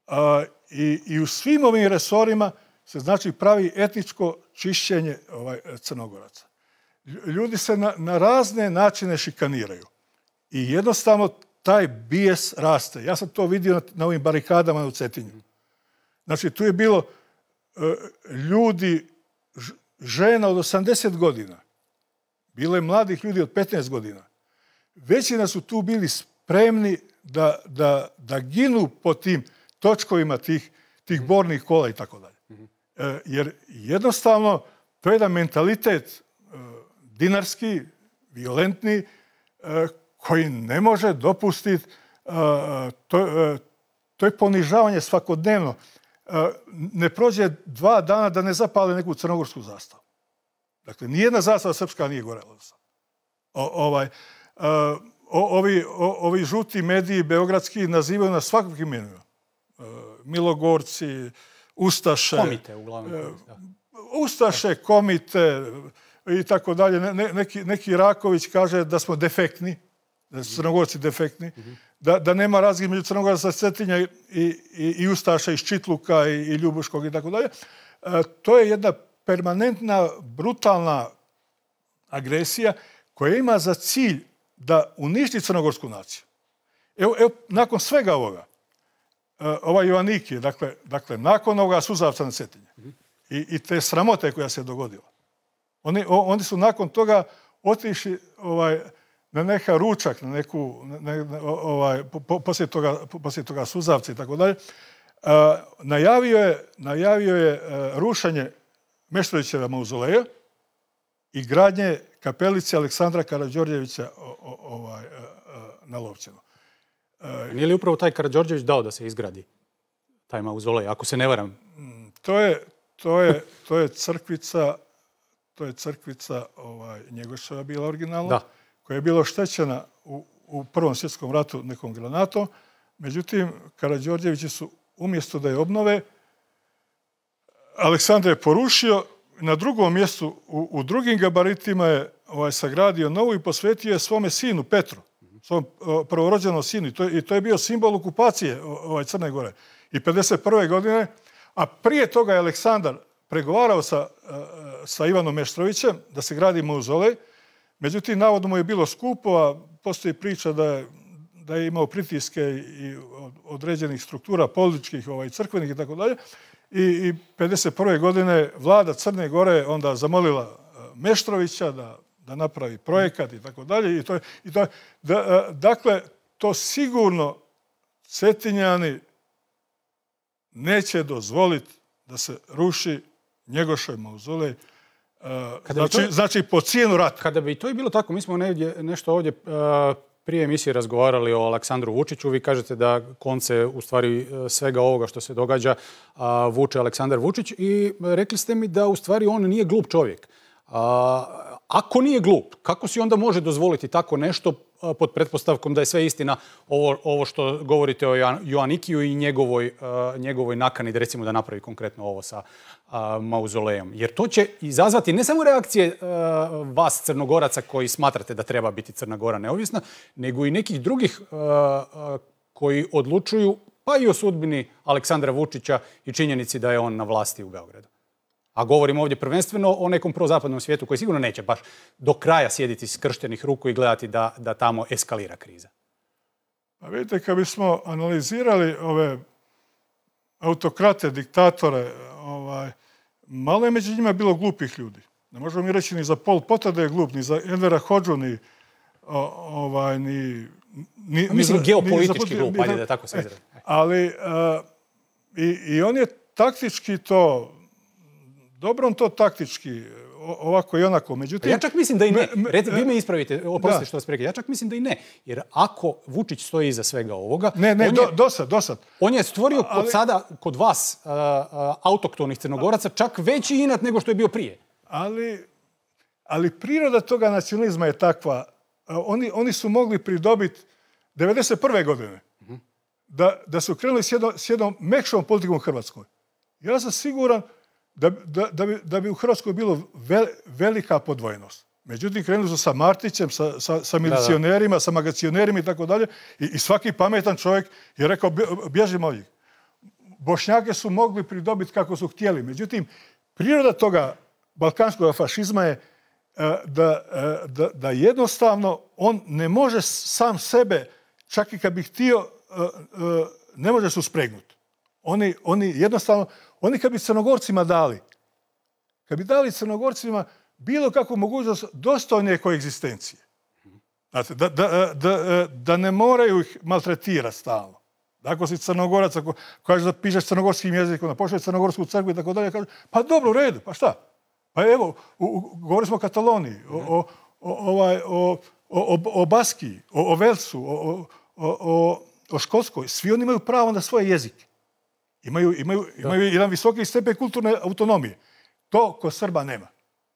Speaker 1: A, i, I u svim ovim resorima se znači pravi etničko čišćenje ovaj, Crnogoraca. Ljudi se na, na razne načine šikaniraju. I jednostavno taj bijes raste. Ja sam to vidio na, na ovim barikadama u Cetinju. Znači, tu je bilo uh, ljudi, ž, žena od osamdeset godina. Bilo je mladih ljudi od petnaest godina. Većina su tu bili spremni da, da, da ginu po tim točkovima tih, tih bornih kola i tako dalje. E, jer jednostavno to je jedan mentalitet e, dinarski, violentni, e, koji ne može dopustiti e, to, e, to je ponižavanje svakodnevno. E, ne prođe dva dana da ne zapale neku crnogorsku zastavu. Dakle, nijedna zastava srpska nije gorela. O, ovaj, e, o, ovi, o, ovi žuti mediji beogradski nazivaju nas svakakvim imenima. E, Milogorci, Ustaše,
Speaker 10: Komite, uglavnom. Da.
Speaker 1: Ustaše, komite i tako dalje. Ne, neki, neki Raković kaže da smo defektni, da su Crnogorci defektni, da, da nema razlike među Crnogoraca sa Cetinja i, i, i Ustaša iz Čitluka i, i Ljubuškog i tako dalje. E, to je jedna permanentna, brutalna agresija koja ima za cilj da uništi crnogorsku naciju. Evo, evo nakon svega ovoga, ovaj Joanniki, dakle, dakle, nakon ovoga suzavca na Cetinje i, i te sramote koja se dogodila, oni, o, oni su nakon toga otišli ovaj, na neka ručak, na neku, ne, ne, ovaj, po, poslije, toga, poslije toga suzavca i tako dalje, najavio je, najavio je uh, rušenje Meštrovićeva mauzoleja i gradnje kapelice Aleksandra Karađorđevića o, o, ovaj, uh, uh, na Lovćenu.
Speaker 10: Nije li upravo taj Karađorđević dao da se izgradi taj mauzolej, ako se ne varam?
Speaker 1: To je, to je, to je crkvica, to je crkvica ovaj, Njegoševa bila originalna,
Speaker 10: da.
Speaker 1: Koja je bila oštećena u, u Prvom svjetskom ratu nekom granatom. Međutim, Karađorđevići su, umjesto da je obnove, Aleksandar je porušio, na drugom mjestu, u, u drugim gabaritima je ovaj, sagradio novu i posvetio je svome sinu Petru. svom prvorođenom sinu. I to, i to je bio simbol okupacije ovaj, Crne Gore. I pedeset prve godine, a prije toga je Aleksandar pregovarao sa, sa Ivanom Meštrovićem da se gradi mauzolej. Međutim, navodno mu je bilo skupo, a postoji priča da je, da je imao pritiske i određenih struktura političkih, ovaj, crkvenih i tako dalje. I, i pedeset prve godine vlada Crne Gore onda zamolila Meštrovića da, da napravi projekat i tako dalje. I to, i to, da, dakle, to sigurno Cetinjani neće dozvoliti da se ruši Njegošev mauzolej. Znači, to, znači po cijenu rata.
Speaker 10: Kada bi to i bilo tako, mi smo negdje, nešto ovdje uh, prije emisije razgovarali o Aleksandru Vučiću. Vi kažete da konce u stvari svega ovoga što se događa uh, vuče Aleksandar Vučić i rekli ste mi da u stvari on nije glup čovjek. Uh, ako nije glup, kako si onda može dozvoliti tako nešto uh, pod pretpostavkom da je sve istina ovo, ovo što govorite o Joanikiju i njegovoj, uh, njegovoj nakani da recimo da napravi konkretno ovo sa uh, mauzolejom? Jer to će izazvati ne samo reakcije uh, vas Crnogoraca koji smatrate da treba biti Crna Gora neovisna, nego i nekih drugih uh, uh, koji odlučuju pa i o sudbini Aleksandra Vučića i činjenici da je on na vlasti u Beogradu. A govorimo ovdje prvenstveno o nekom prozapadnom svijetu koji sigurno neće baš do kraja sjediti skrštenih ruku i gledati da, da tamo eskalira kriza.
Speaker 1: Pa vidite, kad bismo analizirali ove autokrate, diktatore, ovaj, malo je među njima bilo glupih ljudi. Ne možemo mi reći ni za Pol Pota da je glup, ni za Envera Hodžu, ni... O, ovaj, ni, ni
Speaker 10: mislim,
Speaker 1: ni,
Speaker 10: geopolitički
Speaker 1: ni
Speaker 10: glup, ajde da tako se izrazi.
Speaker 1: Ali uh, i, i on je taktički to... Dobro on to taktički, ovako i onako. Međutim,
Speaker 10: ja čak mislim da i ne. Red, vi me ispravite, oprostite što vas prekidam. Ja čak mislim da i ne. Jer ako Vučić stoji iza svega ovoga...
Speaker 1: Ne, ne,
Speaker 10: on
Speaker 1: do,
Speaker 10: je,
Speaker 1: dosad, dosad.
Speaker 10: On je stvorio ali, kod sada, kod vas, uh, uh, autoktonih Crnogoraca, čak veći inat nego što je bio prije.
Speaker 1: Ali, ali priroda toga nacionalizma je takva. Uh, oni, oni su mogli pridobiti devedeset prve godine uh-huh. da, da su krenuli s jednom, s jednom mekšom politikom u Hrvatskoj. Ja sam siguran Da, da, da, bi, da bi u Hrvatskoj bilo ve, velika podvojenost. Međutim, krenuli su sa Martićem, sa, sa, sa milicionerima, da, da. sa magacionerima i tako dalje. I, i svaki pametan čovjek je rekao, bježimo od njih. Bošnjake su mogli pridobiti kako su htjeli. Međutim, priroda toga balkanskog fašizma je da, da, da jednostavno on ne može sam sebe, čak i kad bi htio, ne može se uspregnuti. Oni, oni jednostavno, oni kad bi Crnogorcima dali, kad bi dali Crnogorcima bilo kakvu mogućnost dostojne koegzistencije, znate, da, da, da, da ne moraju ih maltretirati stalno. Ako si Crnogorac, ako kažeš da pišeš crnogorskim jezikom, da pošalješ Crnogorsku crkvu i tako dalje, kažeš, pa dobro, u redu, pa šta? Pa evo, u, u, govorili smo o Kataloniji, o, o, o, ovaj, o, o, o Baskiji, o, o Velsu, o, o, o, o Škotskoj. Svi oni imaju pravo na svoje jezike. Imaju, imaju, imaju jedan visoki stepen kulturne autonomije. To kod Srba nema.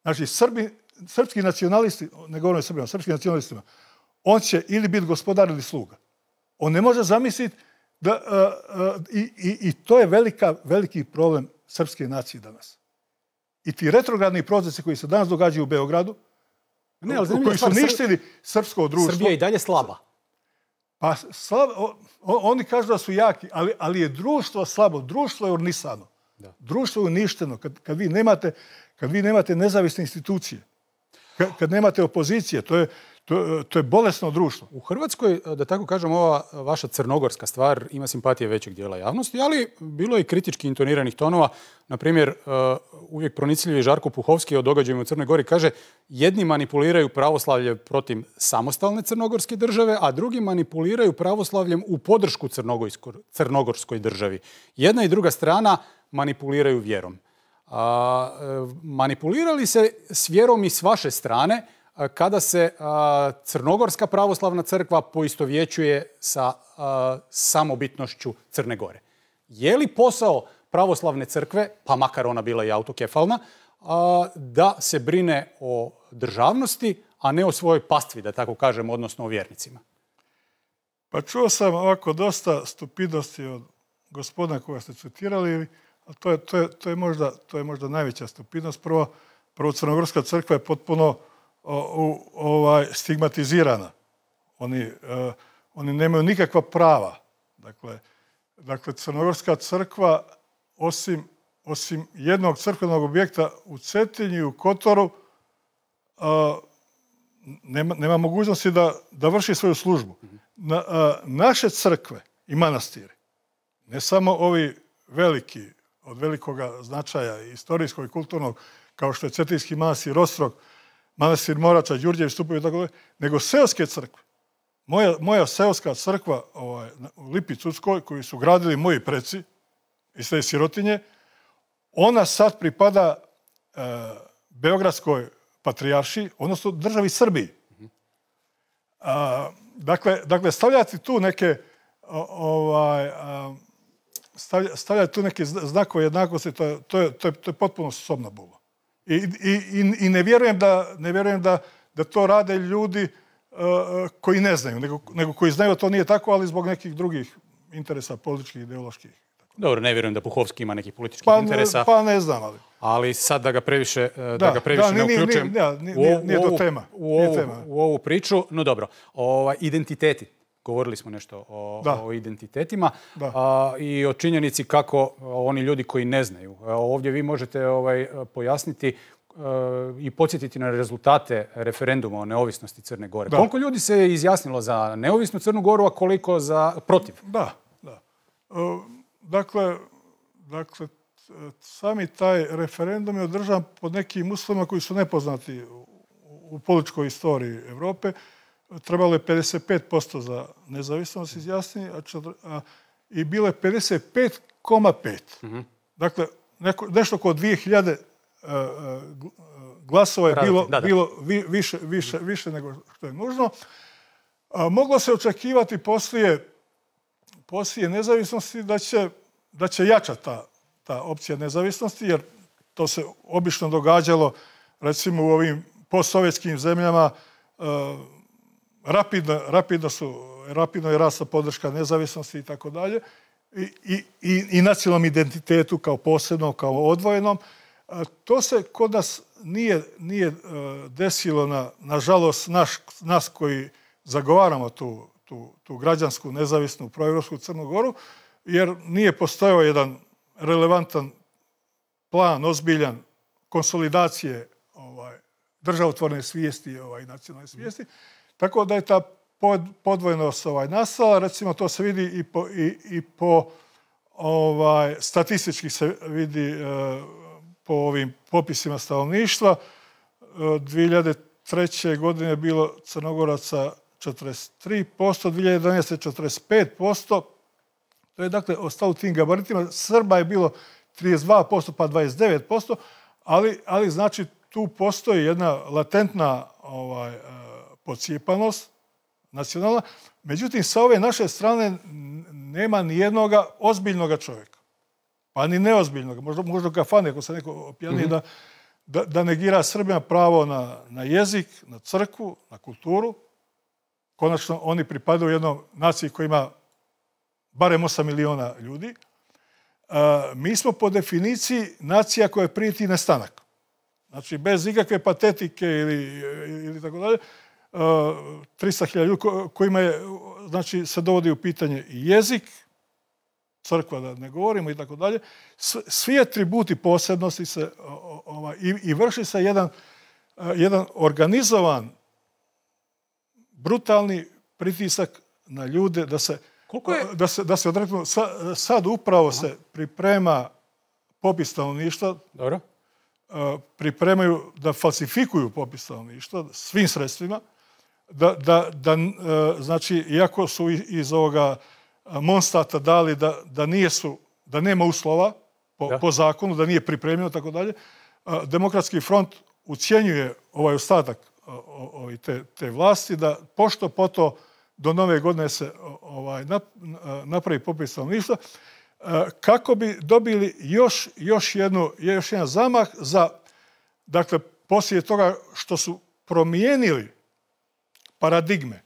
Speaker 1: Znači, Srbi, srpski nacionalisti, ne govorim o Srbima, srpskim nacionalistima, on će ili biti gospodar ili sluga. On ne može zamisliti da... Uh, uh, i, i, I to je velika, veliki problem srpske nacije danas. I ti retrogradni procesi koji se danas događaju u Beogradu, ne, ali koji su ništili srpsko društvo...
Speaker 10: Srbija je i dalje slaba.
Speaker 1: Pa slab, o, oni kažu da su jaki, ali, ali je društvo slabo. Društvo je ornisano. Da. Društvo je uništeno. Kad, kad, vi nemate, kad vi nemate nezavisne institucije, kad, kad nemate opozicije, to je, to, to je bolesno društvo.
Speaker 10: U Hrvatskoj, da tako kažem, ova vaša crnogorska stvar ima simpatije većeg dijela javnosti, ali bilo je i kritički intoniranih tonova. Naprimjer, uvijek pronicljivi Žarko Puhovski o događajima u Crnoj Gori kaže jedni manipuliraju pravoslavlje protiv samostalne crnogorske države, a drugi manipuliraju pravoslavljem u podršku crnogorskoj državi. Jedna i druga strana manipuliraju vjerom. A, manipulirali se s vjerom i s vaše strane kada se a, Crnogorska pravoslavna crkva poistovjećuje sa a, samobitnošću Crne Gore. Je li posao pravoslavne crkve, pa makar ona bila i autokefalna, a, da se brine o državnosti, a ne o svojoj pastvi, da tako kažem, odnosno o vjernicima?
Speaker 1: Pa čuo sam ovako dosta stupidnosti od gospodina koga ste citirali, a to je, to je, to je, možda, to je možda najveća stupidnost. Prvo, prvo Crnogorska crkva je potpuno o, o, ovaj, stigmatizirana. Oni, uh, oni nemaju nikakva prava. Dakle, dakle Crnogorska crkva, osim, osim jednog crkvenog objekta u Cetinju i u Kotoru, uh, nema, nema mogućnosti da, da vrši svoju službu. Na, uh, naše crkve i manastiri, ne samo ovi veliki, od velikoga značaja istorijskog i kulturnog, kao što je Cetinski manastir Ostrog, manastir Morača, Đurđevi stupovi i tako dalje, nego seoske crkve. Moja, moja seoska crkva ovaj, u Lipi Cuckoj, koju su gradili moji preci iz te sirotinje, ona sad pripada e, Beogradskoj patrijaršiji, odnosno državi Srbiji. A, dakle, dakle, stavljati tu neke o, ovaj, a, stavlja, stavljati tu neke znakove jednakosti, to je, to je, to je, to je potpuno sobna bula. I, i, i ne vjerujem da, ne vjerujem da, da to rade ljudi uh, koji ne znaju, nego, nego koji znaju to nije tako, ali zbog nekih drugih interesa, političkih, ideoloških.
Speaker 10: Dobro, ne vjerujem da Puhovski ima nekih političkih
Speaker 1: pa,
Speaker 10: interesa.
Speaker 1: Pa ne znam, ali...
Speaker 10: Ali sad da ga previše, da,
Speaker 1: da
Speaker 10: ga previše
Speaker 1: da,
Speaker 10: ne
Speaker 1: nije,
Speaker 10: uključujem
Speaker 1: nije, nije, nije, nije to tema.
Speaker 10: U ovu, tema. U ovu priču. No dobro, ovaj, identiteti. Govorili smo nešto o, o identitetima a, i o činjenici kako oni ljudi koji ne znaju. Ovdje vi možete ovaj, pojasniti a, i podsjetiti na rezultate referenduma o neovisnosti Crne Gore. Da. Koliko ljudi se izjasnilo za neovisnu Crnu Goru, a koliko za protiv?
Speaker 1: Da, da. Uh, dakle, dakle, sami taj referendum je održan pod nekim uslovima koji su nepoznati u, u političkoj istoriji Evrope. Trebalo je pedeset pet posto za nezavisnost izjasniti, a, a i bilo je pedeset pet zarez pet. Mm-hmm. Dakle, neko, nešto oko dvije hiljade uh, glasova je Raditi, bilo, da, da. bilo vi, više, više, više nego što je nužno. A, moglo se očekivati poslije, poslije nezavisnosti da će, da će jačati ta, ta opcija nezavisnosti, jer to se obično događalo, recimo u ovim postsovjetskim zemljama, uh, Rapidno, rapidno, su, rapidno je rasta podrška nezavisnosti i tako dalje i, i, i nacionalnom identitetu kao posebnom, kao odvojenom. To se kod nas nije, nije desilo, na, nažalost, naš, nas koji zagovaramo tu, tu, tu građansku, nezavisnu, proevropsku Crnu Goru, jer nije postojao jedan relevantan plan, ozbiljan, konsolidacije ovaj, državotvorne svijesti, ovaj, nacionalne svijesti. Tako da je ta podvojnost ovaj, nastala. Recimo, to se vidi i po, i, i po ovaj, statistički se vidi e, po ovim popisima stanovništva. E, dvije hiljade treće. godine je bilo Crnogoraca četrdeset tri posto, dvije hiljade jedanaeste. četrdeset pet posto. To je dakle ostalo u tim gabaritima. Srba je bilo trideset dva posto pa dvadeset devet posto, ali, ali znači tu postoji jedna latentna ovaj, podcijepanost nacionalna. Međutim, sa ove naše strane nema ni jednog ozbiljnog čovjeka. Pa ni neozbiljnog. Možda, možda kafane, ako se neko opijani, mm-hmm. da, da, da negira Srbima pravo na, na jezik, na crkvu, na kulturu. Konačno, oni pripadaju jednom naciji koja ima barem osam miliona ljudi. A, mi smo po definiciji nacija koja prijeti nestanak. Znači, bez ikakve patetike ili, ili tako dalje, tristo hiljada ljudi kojima je, znači, se dovodi u pitanje i jezik, crkva da ne govorimo i tako dalje. Svi atributi posebnosti se ovaj, i, i vrši se jedan, jedan organizovan, brutalni pritisak na ljude da se, je... da se, da se odreknu. Sa, sad upravo Aha. se priprema popis stanovništva. Dobro. Pripremaju da falsifikuju popis stanovništva svim sredstvima. Da, da, da, znači, iako su iz ovoga Monstata dali da, da, nijesu, da nema uslova po, ja. po zakonu, da nije pripremljeno, tako dalje, Demokratski front ucijenjuje ovaj ostatak te, te vlasti da pošto poto do nove godine se ovaj, napravi popis stanovništva kako bi dobili još, još, jednu, još jedan zamah za, dakle, poslije toga što su promijenili paradigme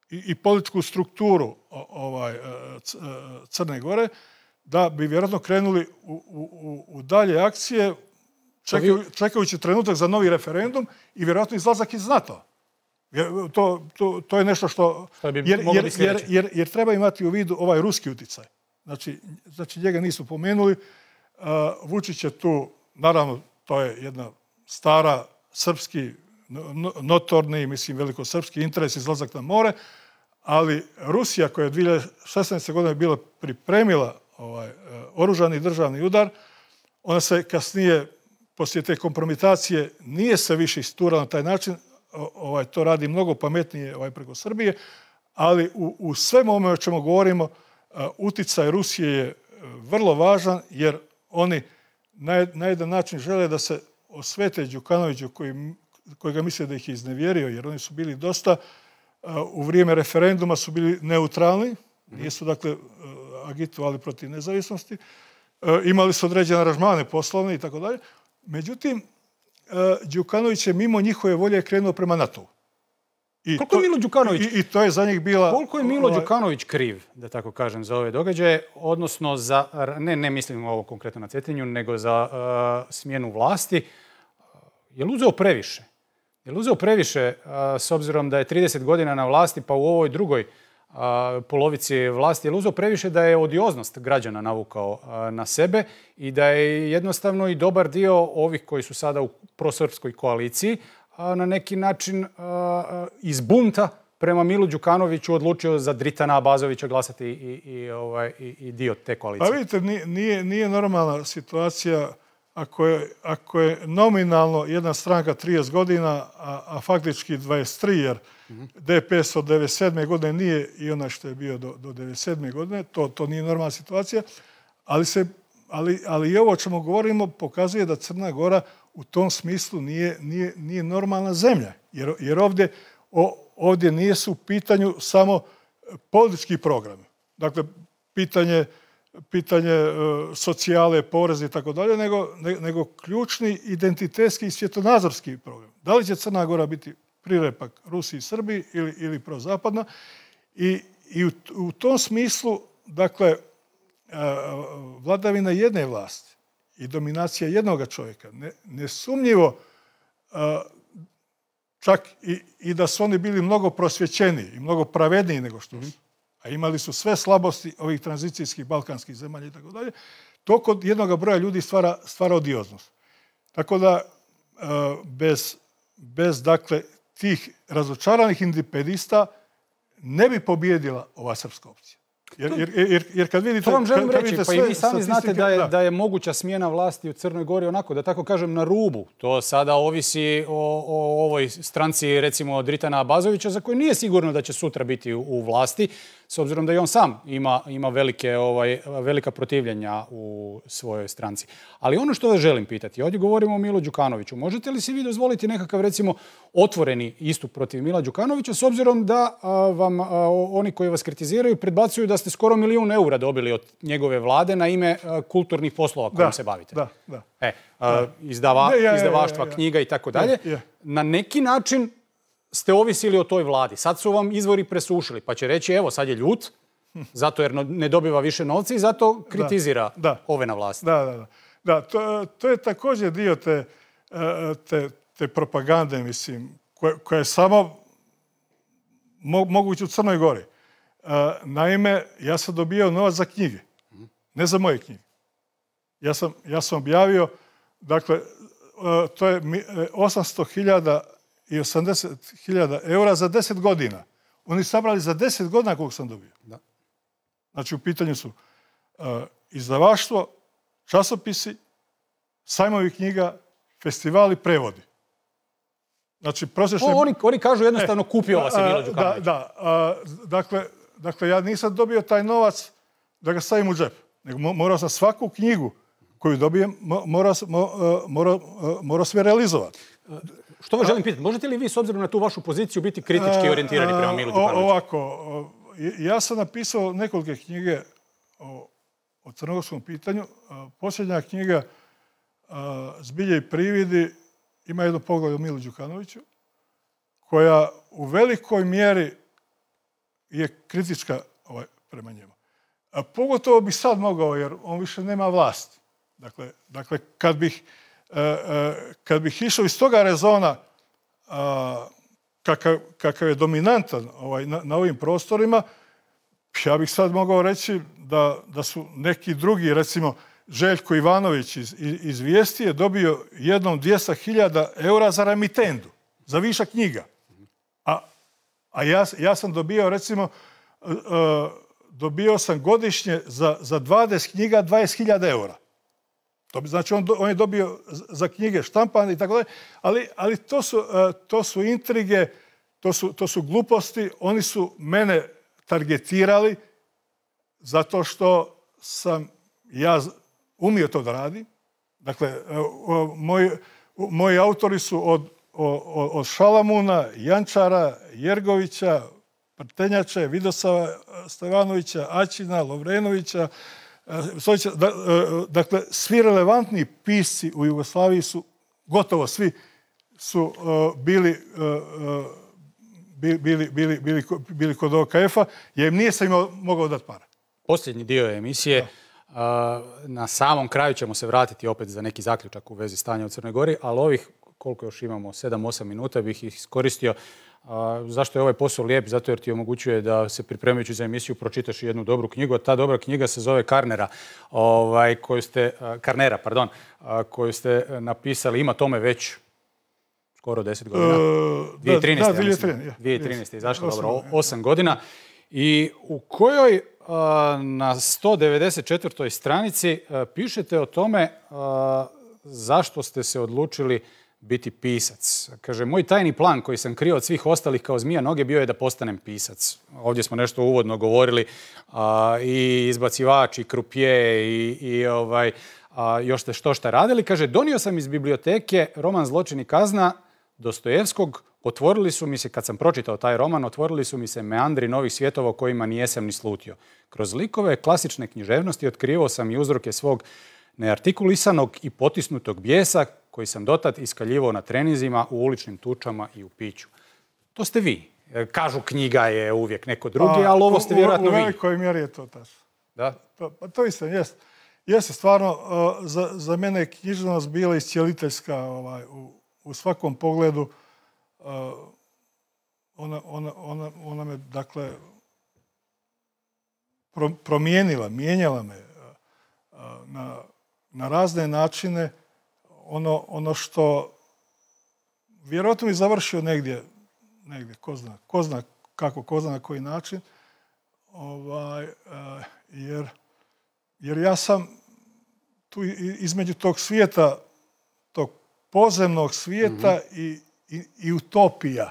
Speaker 1: i, i političku strukturu ovaj, Crne Gore, da bi vjerojatno krenuli u, u, u dalje akcije, čekaju, čekajući trenutak za novi referendum i vjerojatno izlazak iz NATO-a. To, to, to je nešto što...
Speaker 10: što bi
Speaker 1: jer,
Speaker 10: moglo
Speaker 1: jer,
Speaker 10: biti
Speaker 1: jer, jer, jer treba imati u vidu ovaj ruski uticaj. Znači, znači njega nisu pomenuli. Uh, Vučić je tu, naravno, to je jedna stara srpski, notorni, mislim, velikosrpski interes, izlazak na more, ali Rusija koja je dvije hiljade šesnaeste. godine bila pripremila ovaj, oružani državni udar, ona se kasnije, poslije te kompromitacije, nije se više isturala na taj način, ovaj, to radi mnogo pametnije ovaj, preko Srbije, ali u, u svemu ovome o čemu govorimo, uticaj Rusije je vrlo važan, jer oni na, na jedan način žele da se osvete Đukanoviću, koji, koji ga misle da ih je iznevjerio, jer oni su bili dosta, u vrijeme referenduma su bili neutralni, nisu dakle agitovali protiv nezavisnosti, imali su određene aranžmane poslovne i tako dalje. Međutim, Đukanović je mimo njihove volje krenuo prema NATO-u.
Speaker 10: I koliko to, je Milo Đukanović,
Speaker 1: i, i to je za njih bila...
Speaker 10: Koliko je Milo ovaj, Đukanović kriv, da tako kažem, za ove događaje, odnosno za, ne, ne mislim ovo konkretno na Cetinju, nego za uh, smjenu vlasti, je li uzeo previše? Je li uzeo previše uh, s obzirom da je trideset godina na vlasti, pa u ovoj drugoj uh, polovici vlasti, je li uzeo previše da je odioznost građana navukao uh, na sebe i da je jednostavno i dobar dio ovih koji su sada u prosrpskoj koaliciji na neki način iz bunta prema Milu Đukanoviću odlučio za Dritana Abazovića glasati i, i, ovaj, i, i dio te koalicije?
Speaker 1: Pa vidite, nije, nije normalna situacija ako je, ako je nominalno jedna stranka trideset godina, a, a faktički dvadeset tri, jer mm-hmm. D P S od devedeset sedme. godine nije i onaj što je bio do, do devedeset sedme. godine. To, to nije normalna situacija, ali, se, ali, ali i ovo o čemu govorimo pokazuje da Crna Gora u tom smislu nije, nije, nije normalna zemlja. Jer, jer ovdje, o, ovdje nije su u pitanju samo politički programi. Dakle, pitanje, pitanje e, socijale, poreze i tako dalje, nego, ne, nego ključni identitetski i svjetonazorski program. Da li će Crna Gora biti prirepak Rusiji i Srbiji ili, ili prozapadna? I, i u, u tom smislu, dakle, e, vladavina jedne vlasti i dominacija jednog čovjeka, ne, nesumnjivo, čak i, i da su oni bili mnogo prosvjećeniji i mnogo pravedniji nego što su, a imali su sve slabosti ovih tranzicijskih balkanskih zemalja i tako dalje, to kod jednog broja ljudi stvara, stvara odioznost. Tako da, bez, bez dakle, tih razočaranih independista ne bi pobjedila ova srpska opcija. Jer, jer, jer, jer kad vidite...
Speaker 10: To vam želim
Speaker 1: kad,
Speaker 10: reći, pa i vi sami znate da je, da. da je moguća smjena vlasti u Crnoj Gori onako, da tako kažem, na rubu. To sada ovisi o, o ovoj stranci, recimo, Dritana Abazovića, za koju nije sigurno da će sutra biti u, u vlasti, s obzirom da i on sam ima, ima velike, ovaj, velika protivljenja u svojoj stranci. Ali ono što vas želim pitati, ovdje govorimo o Milu Đukanoviću. Možete li si vi dozvoliti nekakav, recimo, otvoreni istup protiv Mila Đukanovića, s obzirom da a, vam a, oni koji vas kritiziraju predbacuju da ste skoro milijun eura dobili od njegove vlade na ime a, kulturnih poslova kojim se bavite?
Speaker 1: Da, da.
Speaker 10: E, a, izdava,
Speaker 1: ne, ja, ja,
Speaker 10: izdavaštva,
Speaker 1: ja, ja, ja.
Speaker 10: knjiga i tako dalje.
Speaker 1: Ja, ja.
Speaker 10: Na neki način ste ovisili o toj vladi. Sad su vam izvori presušili, pa će reći, evo, sad je ljut, zato jer ne dobiva više novca i zato kritizira da, da. ove na vlasti.
Speaker 1: Da, da, da. Da, to, to je također dio te, te, te propagande, mislim, koja, koja je samo mo, moguće u Crnoj Gori. Naime, ja sam dobio novac za knjige, ne za moje knjige. Ja sam, ja sam objavio, dakle, to je osamsto hiljada i osamdeset hiljada eura za deset godina. Oni su sabrali za deset godina koliko sam dobio.
Speaker 10: Da.
Speaker 1: Znači, u pitanju su uh, izdavaštvo, časopisi, sajmovi knjiga, festivali, prevodi. Znači, prosječni...
Speaker 10: O, oni, oni kažu jednostavno e, kupio vas je Milo Đukanović.
Speaker 1: Da, da. Uh, dakle, dakle, ja nisam dobio taj novac da ga stavim u džep. Nego morao sam svaku knjigu koju dobijem, morao, morao, morao sve realizovati.
Speaker 10: Što vas želim pitati, možete li vi s obzirom na tu vašu poziciju biti kritički orijentirani prema Milu Đukanoviću?
Speaker 1: Ovako, ja sam napisao nekolike knjige o, o crnogorskom pitanju. Posljednja knjiga Zbilje i prividi ima jedno poglavlje o Milu Đukanoviću, koja u velikoj mjeri je kritička ovaj, prema njemu. A pogotovo bi sad mogao, jer on više nema vlasti. Dakle, dakle kad bih Kad bih išao iz toga rezona kakav, kakav je dominantan ovaj, na, na ovim prostorima, ja bih sad mogao reći da, da su neki drugi, recimo Željko Ivanović iz, iz Vijesti je dobio jednom dvjesto hiljada eura za remitendu, za višak knjiga. A, a ja, ja sam dobio, recimo, uh, dobio sam godišnje za, za dvadeset knjiga dvadeset hiljada eura. To bi, znači, on, on je dobio za knjige štampane i tako dalje, ali, ali to, su, uh, to su intrige, to su, to su gluposti. Oni su mene targetirali zato što sam ja umio to da radim. Dakle, moji, moji autori su od, od, od Šalamuna, Jančara, Jergovića, Prtenjače, Vidosava Stevanovića, Aćina, Lovrenovića. Dakle, svi relevantni pisci u Jugoslaviji su, gotovo svi, su bili, bili, bili, bili, bili, bili kod O K F-a, jer im nije sam imao mogao dati para.
Speaker 10: Posljednji dio emisije. Da. Na samom kraju ćemo se vratiti opet za neki zaključak u vezi stanja u Crnoj Gori, ali ovih, koliko još imamo, sedam osam minuta bih ih iskoristio. Zašto je ovaj posao lijep? Zato jer ti omogućuje da se pripremajući za emisiju pročitaš jednu dobru knjigu. Ta dobra knjiga se zove Karnera, ovaj, koju ste, Karnera, pardon, koju ste napisali. Ima tome već skoro deset godina. dvije tisuće trinaeste. Da, dvije tisuće trinaeste. dvije tisuće trinaeste je izašla, dobro, osam godina. I u kojoj na sto devedeset četvrtoj stranici pišete o tome zašto ste se odlučili biti pisac. Kaže, moj tajni plan koji sam krio od svih ostalih kao zmija noge bio je da postanem pisac. Ovdje smo nešto uvodno govorili, a, i izbacivač, i krupije, i, i ovaj, a, još ste što šta radili. Kaže, donio sam iz biblioteke roman Zločin i kazna Dostojevskog. Otvorili su mi se, kad sam pročitao taj roman, otvorili su mi se meandri novih svjetova o kojima nijesam ni slutio. Kroz likove klasične književnosti otkrivao sam i uzroke svog neartikulisanog i potisnutog bijesa koji sam dotad iskaljivao na treninzima, u uličnim tučama i u piću. To ste vi. Kažu knjiga je uvijek neko drugi, ali ovo ste vjerojatno vi.
Speaker 1: U velikoj mjeri je to tačno.
Speaker 10: Da?
Speaker 1: To, pa to isto, jest. Jeste stvarno, uh, za, za mene je književnost bila iscijeliteljska ovaj, u, u svakom pogledu. Uh, ona, ona, ona, ona me, dakle, pro, promijenila, mijenjala me uh, na, na razne načine. Ono, ono što vjerojatno mi završio negdje, negdje, ko zna, ko zna kako, ko zna na koji način, ovaj, uh, jer, jer ja sam tu između tog svijeta, tog pozemnog svijeta mm-hmm. i, i, i utopija.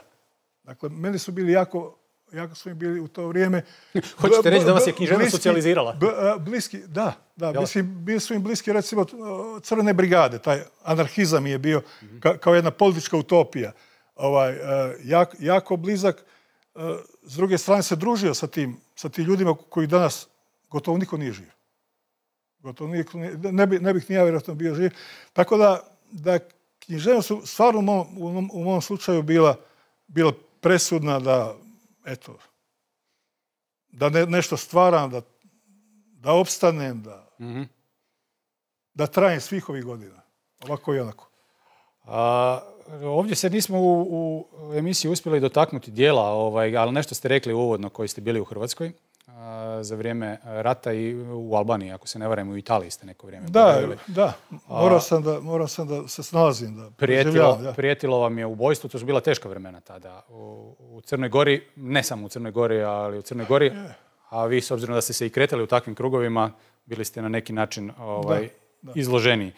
Speaker 1: Dakle, meni su bili jako, jako su mi bili u to vrijeme...
Speaker 10: Hoćete reći da vas je književnost socijalizirala?
Speaker 1: Bliski, da, da, mislim, bili su im bliski, recimo, Crvene brigade, taj anarhizam je bio mm-hmm. ka, kao jedna politička utopija. Ovaj, jak, jako blizak. S druge strane se družio sa tim, sa tim ljudima koji danas gotovo niko nije živ. Gotovo niko nije, ne, bi, ne bih ni ja vjerojatno bio živ. Tako da, da književnost su stvarno u mom, u mom, u mom slučaju bila, bila presudna da, eto, da ne, nešto stvaram, da, da opstanem, da, mm-hmm. da trajem svih ovih godina. Ovako i onako.
Speaker 10: A, ovdje se nismo u, u emisiji uspjeli dotaknuti dijela, ovaj, ali nešto ste rekli uvodno koji ste bili u Hrvatskoj a, za vrijeme rata i u Albaniji, ako se ne varam, u Italiji ste neko vrijeme.
Speaker 1: Da, pojavili. Da. Morao sam da, morao sam da se snalazim. Da
Speaker 10: prijetilo, da. prijetilo vam je ubojstvo, to su bila teška vremena tada. U, u Crnoj Gori, ne samo u Crnoj Gori, ali u Crnoj Gori, a vi s obzirom da ste se i kretali u takvim krugovima, bili ste na neki način ovaj, da, da. izloženiji.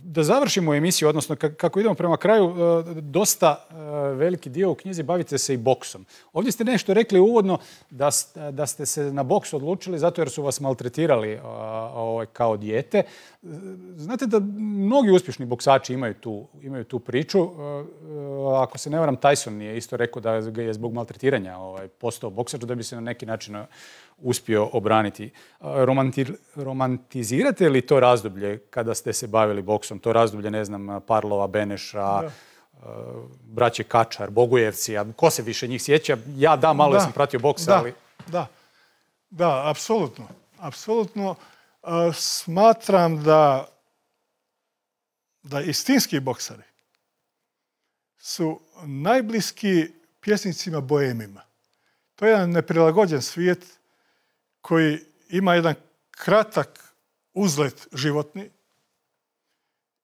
Speaker 10: Da završimo emisiju, odnosno kako idemo prema kraju, dosta veliki dio u knjizi bavite se i boksom. Ovdje ste nešto rekli uvodno da, da ste se na boks odlučili zato jer su vas maltretirali kao dijete. Znate da mnogi uspješni boksači imaju tu, imaju tu priču. Ako se ne varam, Tyson je isto rekao da je zbog maltretiranja postao boksač, da bi se na neki način uspio obraniti. Romanti, romantizirate li to razdoblje kada ste se bavili boksom? To razdoblje, ne znam, Parlova, Beneša, da. braće Kačar, Bogujevci, a ko se više njih sjeća? Ja da, malo da. sam pratio boksa,
Speaker 1: da.
Speaker 10: ali...
Speaker 1: Da, da, apsolutno. Apsolutno uh, smatram da, da istinski boksari su najbliski pjesnicima boemima. To je jedan neprilagođen svijet koji ima jedan kratak uzlet životni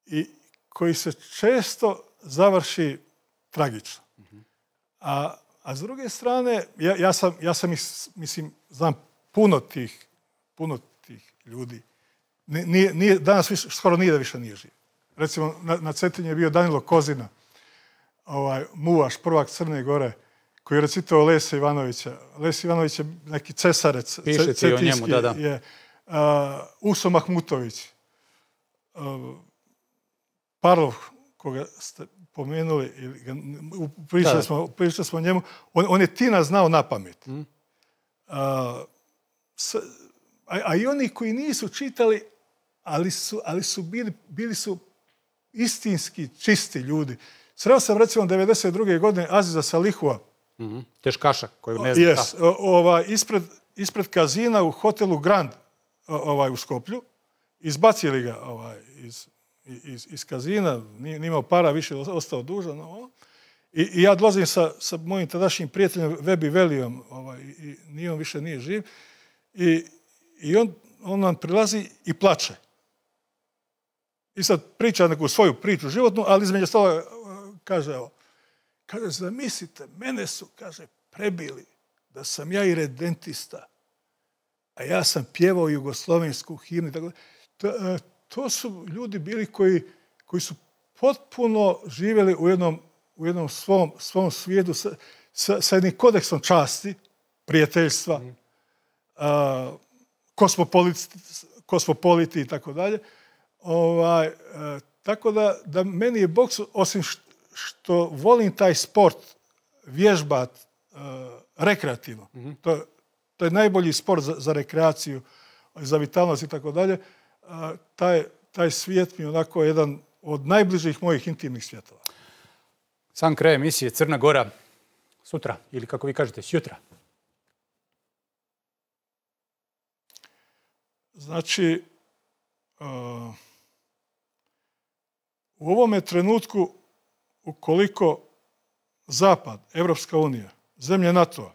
Speaker 1: i koji se često završi tragično. A, a s druge strane, ja, ja sam, ja sam mislim, znam puno tih, puno tih ljudi. Nije, nije, danas više, skoro nije da više nije živ. Recimo, na, na Cetinju je bio Danilo Kozina, ovaj, muvaš, prvak Crne Gore, koji je recitao Lesa Ivanovića. Les Ivanović je neki cesarec.
Speaker 10: Piše ti o njemu, da, da.
Speaker 1: Je, uh, Uso Mahmutović, uh, Parlov, koga ste pomenuli, ili ga, pričali, da. Smo, pričali smo o njemu, on, on je Tina znao na pamet. Mm. Uh, s, a, a i oni koji nisu čitali, ali su, ali su bili, bili su istinski čisti ljudi. Sreo sam recimo devedeset druge godine Aziza Salihua.
Speaker 10: Mm-hmm. Teškaša koju ne znam.
Speaker 1: Yes, ovaj, ispred, ispred kazina u hotelu Grand ovaj, u Skoplju. Izbacili ga ovaj, iz, iz, iz kazina, nije, nije imao para, više ostao dužan. Ovaj. I, I ja dolazim sa, sa mojim tadašnjim prijateljem Vebi Velijom, ovaj, i nije on više nije živ. I, i on, on nam prilazi i plače. I sad priča neku svoju priču životnu, ali između stoga kaže, evo, kaže, zamislite, mene su, kaže, prebili da sam ja i redentista, a ja sam pjevao jugoslovensku himnu. Tako, to, to su ljudi bili koji, koji su potpuno živjeli u jednom, u jednom svom, svom svijetu sa, sa, sa jednim kodeksom časti, prijateljstva, mm. a, kosmopoliti, kosmopoliti i tako dalje. Ovaj, a, tako da, da meni je boks, osim što, što volim taj sport vježbat uh, rekreativno. Mm-hmm. To, to je najbolji sport za, za rekreaciju, za vitalnost i tako dalje. Uh, taj, taj svijet mi je onako jedan od najbližih mojih intimnih svjetova.
Speaker 10: Sam kraj emisije Crna Gora sutra, ili kako vi kažete, sjutra.
Speaker 1: Znači, uh, u ovome trenutku ukoliko Zapad, Evropska unija, zemlje NATO-a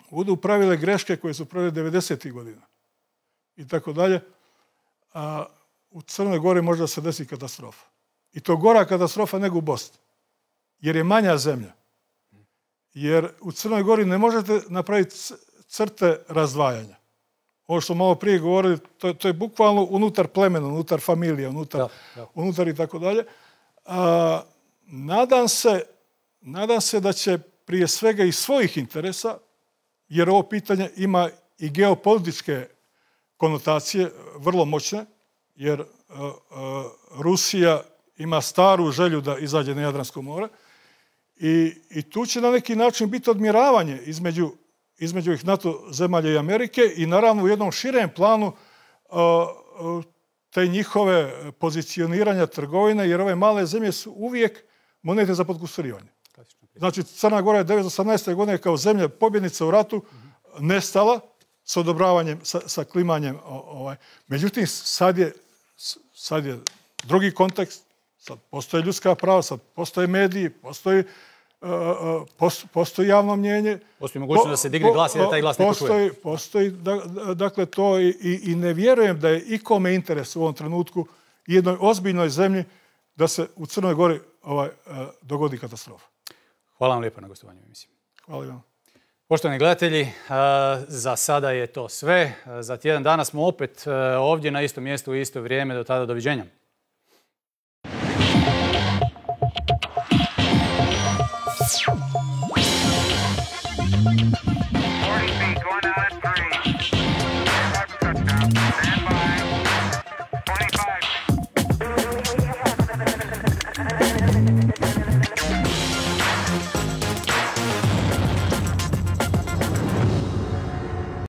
Speaker 1: budu pravile greške koje su pravile devedesetih godina i tako dalje, a u Crnoj Gori može da se desi katastrofa. I to gora katastrofa nego u Bosni. Jer je manja zemlja. Jer u Crnoj Gori ne možete napraviti crte razdvajanja. Ovo što malo prije govorili, to, to je bukvalno unutar plemena, unutar familije, unutar, da, da. unutar i tako dalje. A, nadam se, nadam se da će prije svega iz svojih interesa, jer ovo pitanje ima i geopolitičke konotacije, vrlo moćne, jer a, a, Rusija ima staru želju da izađe na Jadransko more i, i tu će na neki način biti odmjeravanje između između ih NATO zemalja i Amerike i naravno u jednom širem planu uh, te njihove pozicioniranja trgovine, jer ove male zemlje su uvijek monete za podkusturivanje. Znači, Crna Gora je devetsto osamnaeste. godine kao zemlja pobjednica u ratu mm-hmm. nestala s odobravanjem, sa, sa klimanjem. Ovaj. Međutim, sad je, sad je drugi kontekst, sad postoje ljudska prava, sad postoje mediji, postoji postoji javno mnjenje.
Speaker 10: Postoji mogućnost da se digne glas i da taj glas ne čuje.
Speaker 1: Postoji, dakle, to i, i ne vjerujem da je ikome interes u ovom trenutku jednoj ozbiljnoj zemlji da se u Crnoj Gori ovaj, dogodi katastrofa.
Speaker 10: Hvala vam lijepo na gostovanju u emisiji.
Speaker 1: Hvala vam.
Speaker 10: Poštovani gledatelji, za sada je to sve. Za tjedan dana smo opet ovdje na istom mjestu u isto vrijeme. Do tada, doviđenja. Thank you.